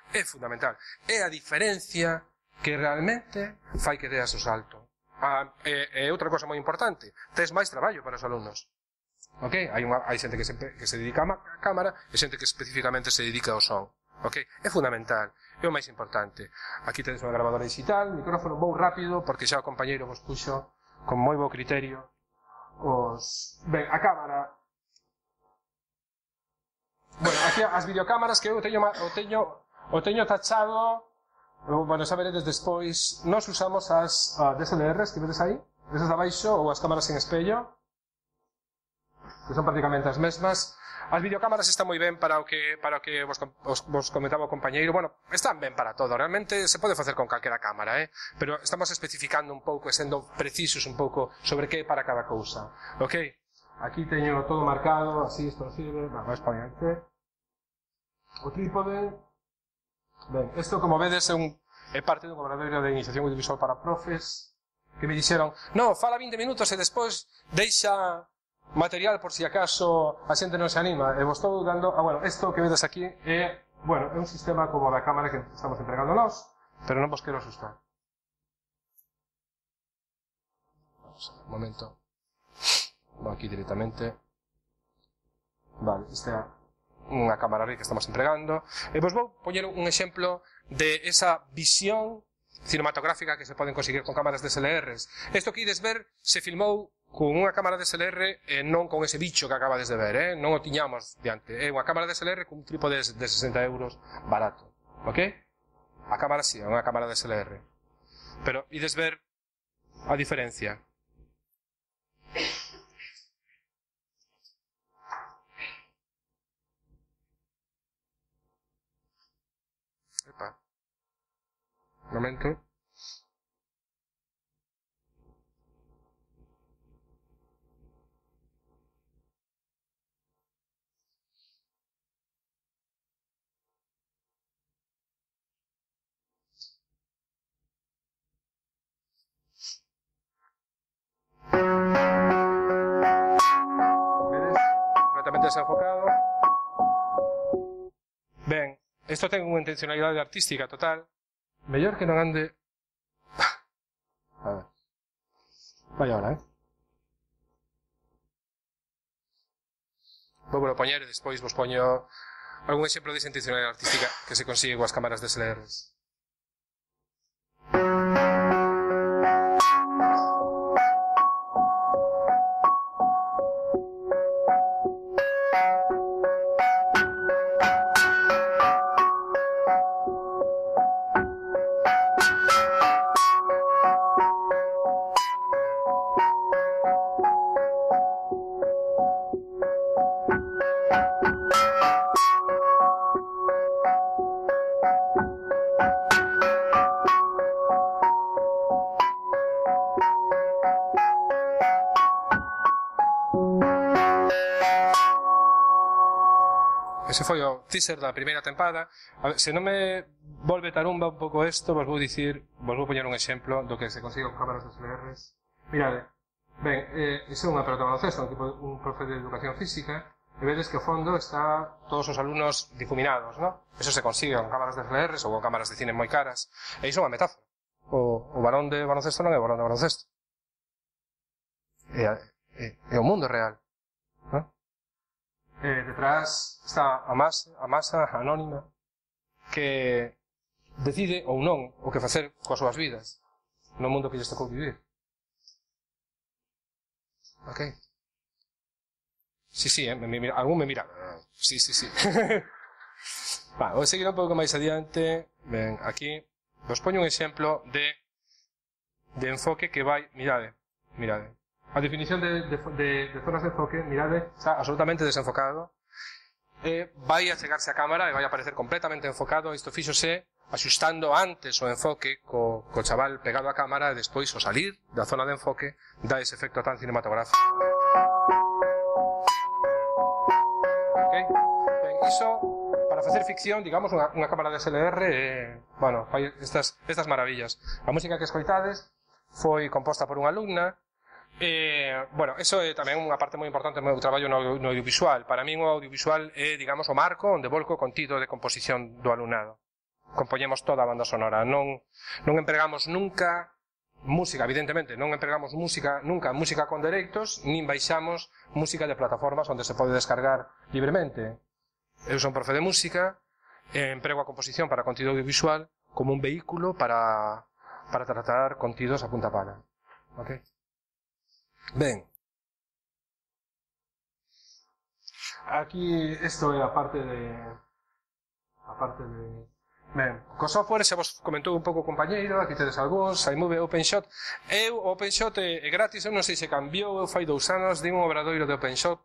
Speaker 20: É fundamental. É a diferencia que realmente fai que deas o salto. E outra cosa moi importante, tes máis traballo para os alumnos. Ok? Hai xente que se dedica a cámara e xente que especificamente se dedica ao son. Ok? É fundamental. É o máis importante. Aquí tedes unha grabadora digital, micrófono, vou rápido, porque xa o compañeiro vos puxo con moi bo criterio. Ben, a cámara. Bueno, aquí as videocámaras que eu teño tachado. Bueno, xa veredes despois. Nos usamos as DSLRs que vedes aí, esas de abaixo, ou as cámaras en espello, que son prácticamente as mesmas. As videocámaras están moi ben para o que vos comentaba o compañeiro. Bueno, están ben para todo. Realmente se pode facer con calquera cámara, pero estamos especificando un pouco e sendo precisos un pouco sobre que é para cada cousa. Ok? Aquí teño todo marcado, así, isto sirve. Vais para adiante. O trípode. Ben, isto, como vedes, é parte dun obradoiro de iniciación audiovisual para profes, que me dixeron, no, fala 20 minutos e despois deixa material por si acaso a xente non se anima. E vos estou dando... bueno, isto que vedes aquí é un sistema como da cámara que estamos entregando nós, pero non vos quero asustar. Vamos a ver, un momento. Vou aquí directamente. Vale, esta é unha cámara que estamos entregando. E vos vou poñer un exemplo de esa visión cinematográfica que se poden conseguir con cámaras DSLRs. Isto que ides ver se filmou con unha cámara DSLR e non con ese bicho que acabades de ver, non o tiñamos diante. É unha cámara DSLR con un trípode de 60 euros barato, ok? A cámara sí, é unha cámara DSLR. Pero ides ver a diferencia. Epa. Un momento. Desenfocado. Ben, isto ten unha intencionalidade artística total. Mellor que non ande... A ver. Vai ahora, Vou poñer e despois vos poño algún exemplo desa intencionalidade artística que se consigue coas cámaras DSLRs. ese foi o teaser da primeira tempada. A ver, se non me volve tarumba un pouco isto, vos vou poñer un exemplo do que se consigue con cámaras de SLRs. Mirade, ben, iso é unha pelota de baloncesto, un profe de educación física, e vedes que ao fondo está todos os alumnos difuminados, ¿no? Eso se consigue con cámaras de SLRs ou con cámaras de cine moi caras, e iso é unha metáfora. O balón de baloncesto non é o balón de baloncesto. É o mundo real, ¿no? Detrás está a masa anónima que decide ou non o que facer coas súas vidas no mundo que lles tocou vivir. Ok? Sí, algún me mira. Sí. Vou seguir un pouco máis adiante. Ben, aquí vos poño un exemplo de enfoque que vai, mirade. A definición de zonas de enfoque, mirade, está absolutamente desenfocado. Vai a chegarse a cámara e vai a aparecer completamente enfocado. Isto fíxose axustando antes o enfoque co chaval pegado á cámara e despois o salir da zona de enfoque dá ese efecto tan cinematográfico. Ok? Ben, iso, para facer ficción, digamos, unha cámara de SLR, bueno, fai estas maravillas. A música que escoitades foi composta por unha alumna. Bueno, eso é tamén unha parte moi importante do meu traballo no audiovisual. Para min o audiovisual é, digamos, o marco onde volco o contido de composición do alumnado. Compoñemos toda a banda sonora. Non empregamos nunca música, evidentemente, non empregamos nunca música con dereitos, nin baixamos música de plataformas onde se pode descargar libremente. Eu son profe de música, emprego a composición para contido audiovisual como un vehículo para tratar contidos a punta pala. Ok? Ben, aquí isto é a parte de ben, co software se vos comentou un pouco o compañeiro, aquí tedes algúns, iMovie, OpenShot. O OpenShot é gratis, eu non sei se cambiou, eu fai 2 anos din un obradoiro de OpenShot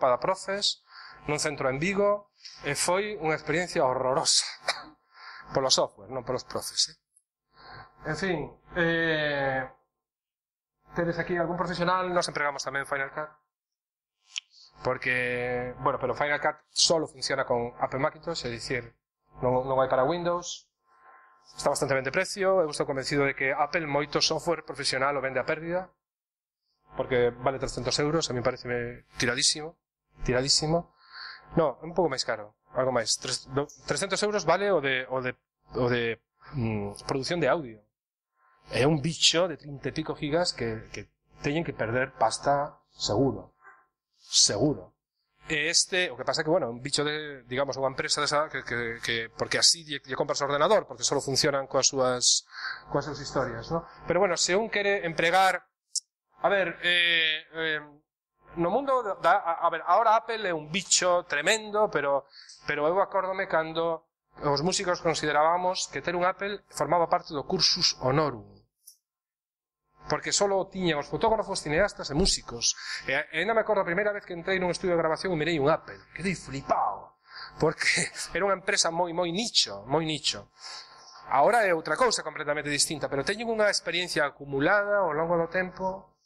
Speaker 20: para profes nun centro en Vigo e foi unha experiencia horrorosa polo software, non polos profes. En fin, tedes aquí algún profesional, nos empregamos tamén Final Cut porque, bueno, pero Final Cut solo funciona con Apple Macintosh, é dicir, non hai para Windows, está bastante ben de precio. Eu estou convencido de que Apple moito software profesional o vende a pérdida porque vale 300 euros, a mí parece tiradísimo. No, un pouco máis caro, algo máis, 300 euros vale o de produción de audio. É un bicho de 30 e pico gigas que teñen que perder pasta seguro. E o que pasa é que, bueno, un bicho de, digamos, unha empresa desa que porque así lle compras o ordenador, porque só funcionan coas súas historias, ¿no? Pero bueno, se un quere empregar, a ver, no mundo a ver, ahora Apple é un bicho tremendo, pero eu acórdome cando os músicos considerábamos que ter un Apple formaba parte do cursus honorum. Porque só tiñan os fotógrafos, cineastas e músicos. E ainda me acordo a primeira vez que entrei nun estudio de grabación e mirei un Apple. Quedei flipado. Porque era unha empresa moi nicho. Ahora é outra cousa completamente distinta, pero teñen unha experiencia acumulada ao longo do tempo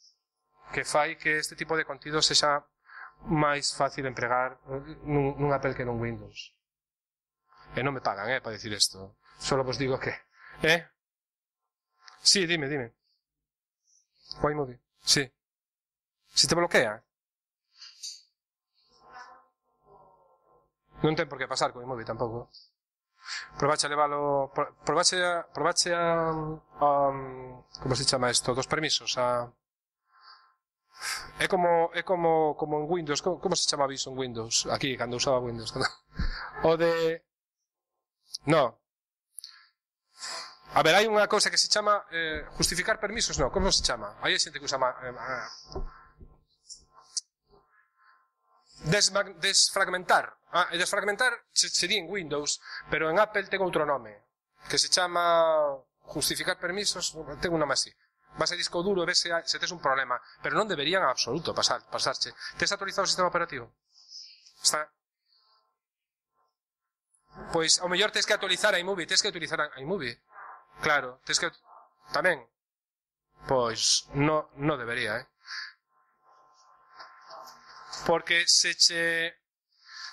Speaker 20: que fai que este tipo de contido sexa máis fácil empregar nun Apple que nun Windows. E non me pagan, para dicir isto. Solo vos digo que... Sí, dime. O iMovie, sí. Si te bloquea. Non ten por que pasar co iMovie tampouco. Probache a levalo... Probache a... como se chama isto? Dos permisos, É como en Windows. Como se chama aviso en Windows? Aquí, cando usaba Windows. O de... No. A ver, hai unha cousa que se chama justificar permisos, non, como se chama? Hai xente que usa desfragmentar. Desfragmentar sería en Windows, pero en Apple ten outro nome, que se chama justificar permisos, ten un nome así. Vas a disco duro e ves se tes un problema, pero non deberían en absoluto pasarche. Tes actualizado o sistema operativo? Está... Pois, ao mellor tes que actualizar a iMovie, Claro, tes que... Tamén. Pois, no debería, Porque se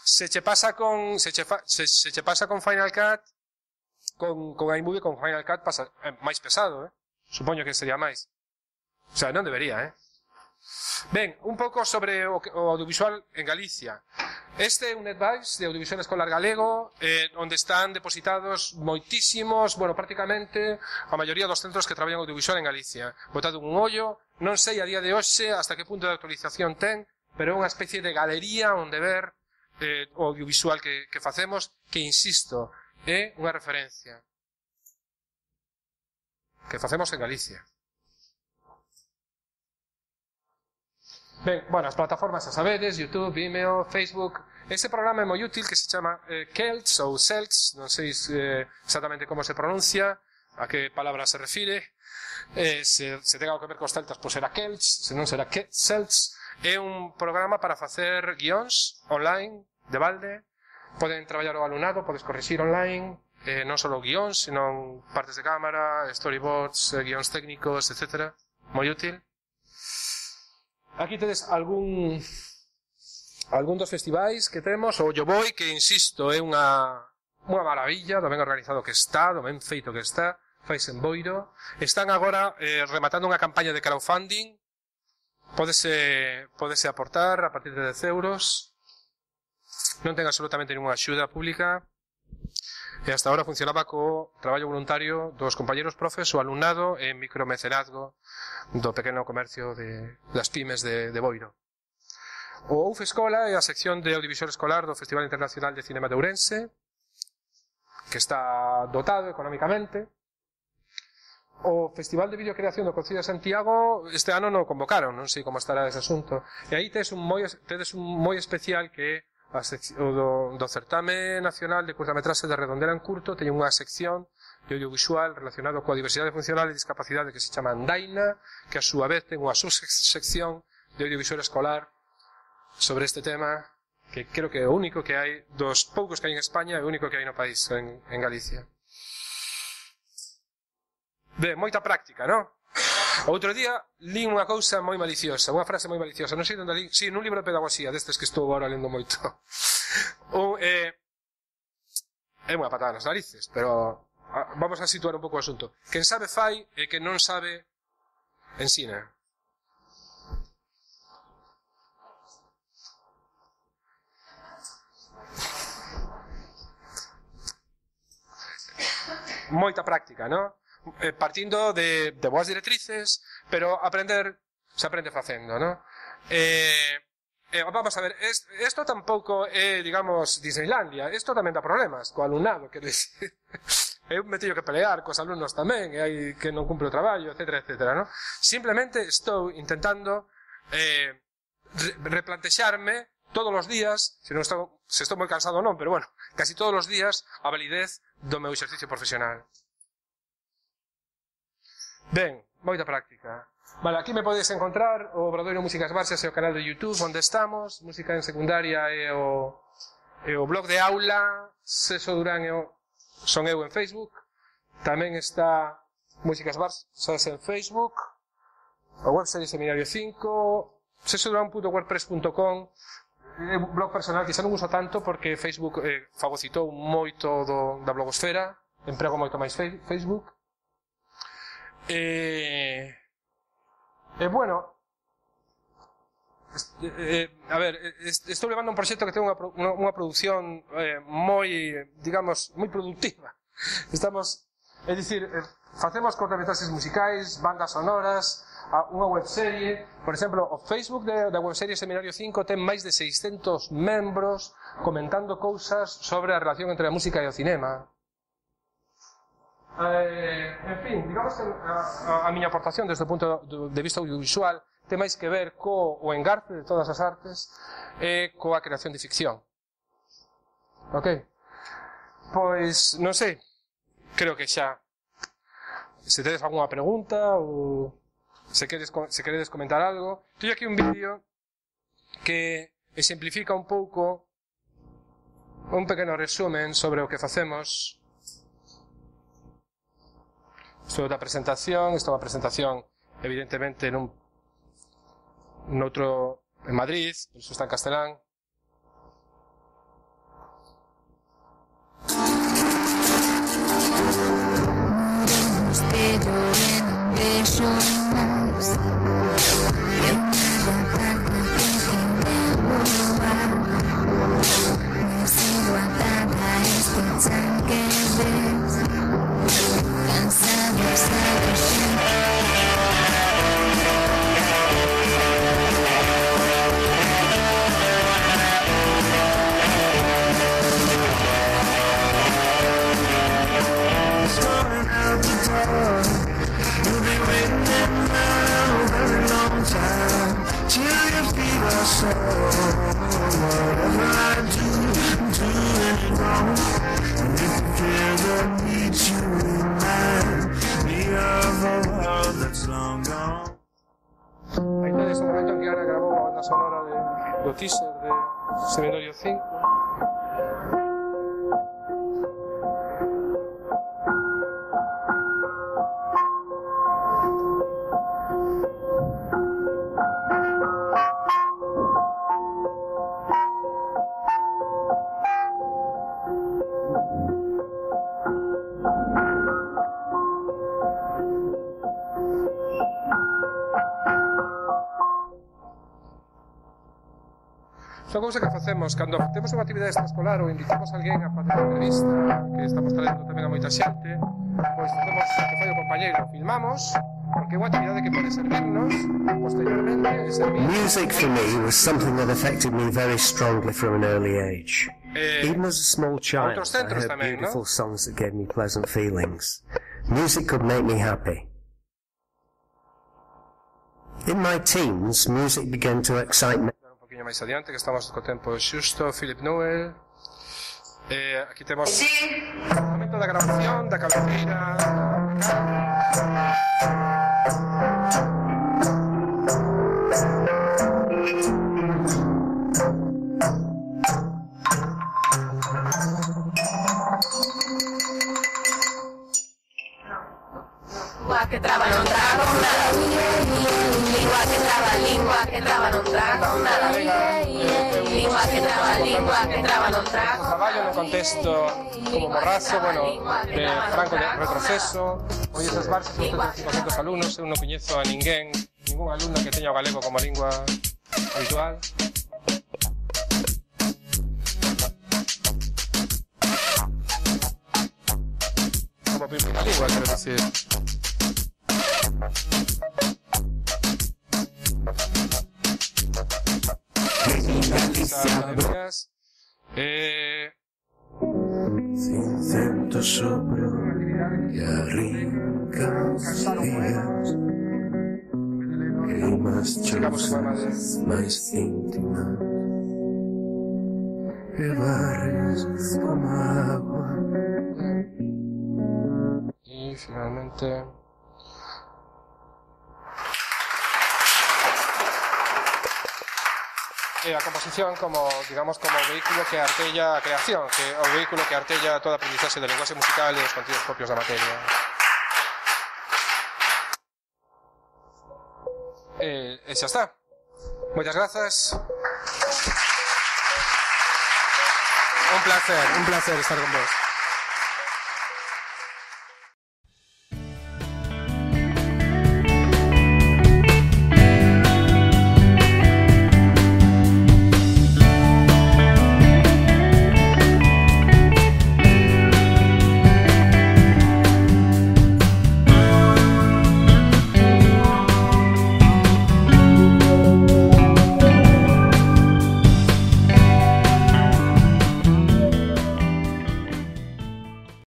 Speaker 20: Se che pasa con Final Cut, con iMovie, con Final Cut pasa máis pesado, supoño que sería máis. O sea, non debería, Ben, un pouco sobre o audiovisual en Galicia. Este é un advice de audiovisual escolar galego, onde están depositados moitísimos, bueno, prácticamente a maioría dos centros que traballan audiovisual en Galicia. Botado un ollo, non sei a día de hoxe hasta que punto de actualización ten, pero é unha especie de galería onde ver o audiovisual que facemos, que, insisto, é unha referencia que facemos en Galicia. Ben, bueno, as plataformas a sabedes, YouTube, Vimeo, Facebook. Ese programa é moi útil que se chama Celts ou Celts, non sei exactamente como se pronuncia, a que palabra se refire. Se ten algo que ver cos celtas, pois será Celts, se non será Celts. É un programa para facer guións online, de balde. Poden traballar o alumnado, podes corrixir online, non só guións, sino partes de cámara, storyboards, guións técnicos, etc. Moi útil. Aquí tedes algún dos festivais que temos, o Yo Voy, que, insisto, é unha maravilla, do ben organizado que está, do ben feito que está, fais en Boiro. Están agora rematando unha campaña de crowdfunding, pódese aportar a partir de 10 euros, non ten absolutamente ninguna axuda pública, e hasta agora funcionaba co traballo voluntario dos compañeros profes, o alumnado e micromecenazgo do pequeno comercio das pymes de Boiro. O UF Escola é a sección de audiovisual escolar do Festival Internacional de Cinema de Ourense, que está dotado económicamente. O Festival de Videocreación do Concello de Santiago este ano non convocaron, non sei como estará ese asunto. E aí tedes un moi especial que é o do Certame Nacional de Curtametraxe de Redondela en Curto. Teñen unha sección de audiovisual relacionado coa diversidade funcional e discapacidade que se chama Andaina, que a súa vez ten unha subsección de audiovisual escolar sobre este tema, que creo que é o único que hai, dos poucos que hai en España, é o único que hai no país, en Galicia. Ben, moita práctica, non? Outro día li unha cousa moi maliciosa, unha frase moi maliciosa, non sei onde li, si, nun libro de pedagogía, destes que estou agora lendo moito. É unha patada nas narices, pero vamos a situar un pouco o asunto. Quen sabe fai e quen non sabe ensina. Moita práctica, non? Partindo de boas directrices, pero se aprende facendo, ¿no? Vamos a ver, esto tampouco é, digamos, Disneylandia. Esto tamén dá problemas co alumnado, quero dicir. Eu me teño que pelear cos alumnos tamén, e hai que non cumpre o traballo, etcétera, etcétera, ¿no? Simplemente estou intentando replantexarme todos os días, se estou moi cansado ou non, pero bueno, casi todos os días a validez do meu exercicio profesional. Ben, moita práctica. Vale, aquí me podedes encontrar o Obradoiro Músicas Barxas e o canal de YouTube onde estamos, Música en Secundaria e o blog de aula, Seso Durán son eu en Facebook, tamén está Músicas Barxas en Facebook, o webserie Seminario 5, sesodurán.wordpress.com, é un blog personal que xa non uso tanto porque Facebook fagocitou moito da blogosfera, emprego moito máis Facebook. Bueno, a ver, estou levando un proxecto que ten unha produción moi, digamos, moi productiva. É dicir, facemos cortometraxes musicais, bandas sonoras, unha webserie. Por exemplo, o Facebook da webserie Seminario 5 ten máis de 600 membros comentando cousas sobre a relación entre a música e o cinema. En fin, digamos que a miña aportación desde o punto de vista audiovisual ten máis que ver co engarce de todas as artes e coa creación de ficción. Ok? Pois, non sei, creo que xa se tedes algunha pregunta ou se queredes comentar algo. Teño aquí un vídeo que exemplifica un pouco un pequeno resumen sobre o que facemos. Isto é unha presentación, evidentemente en Madrid, por iso está en castelán.
Speaker 15: Moriremos de llover un beso más. Y una garganta que quiere volar. Me sigo atada a este tanque, ves. Cansado, sabes siempre.
Speaker 20: Aí tedes o momento en que Ana grabou a banda sonora do teaser de Seminario 5. Son cousa que facemos cando temos unha actividade extraescolar ou invitamos a alguén a facer unha entrevista, que estamos traendo tamén a moita xente, pois facemos que fai o compañeiro, filmamos, porque é unha actividade que pode servirnos posteriormente e servir.
Speaker 9: Music for me was something that affected me very strongly from an early age. Even as a small child, I heard beautiful songs that gave me pleasant feelings. Music could make me happy. In my teens, music began to excite me.
Speaker 20: Máis adiante, que estamos co tempo xusto. Philip Newell. Aquí temos o momento da grabación, da cabeceira.
Speaker 15: Lingua que traba non trago nada. Lingua que traba, lingua que traba non trago nada. Lingua que traba non trago.
Speaker 20: Traballo no contexto como Morrazo, bueno, de Franco de retroceso. Hoy esas bases son 500 alumnos, eu non coñezo a ninguén, ningún alumno que teña o galego como lingua habitual. Como primeira lingua, quero decir.
Speaker 15: Cincento sobre y arrincan los días y más chozas, más íntimas que barres como agua.
Speaker 20: Y finalmente a composición como, digamos, como vehículo que artella a creación, o vehículo que artella toda a aprendizaxe do lenguaxe musical e os contidos propios da materia. E xa está. Moitas grazas. Un placer estar con vos.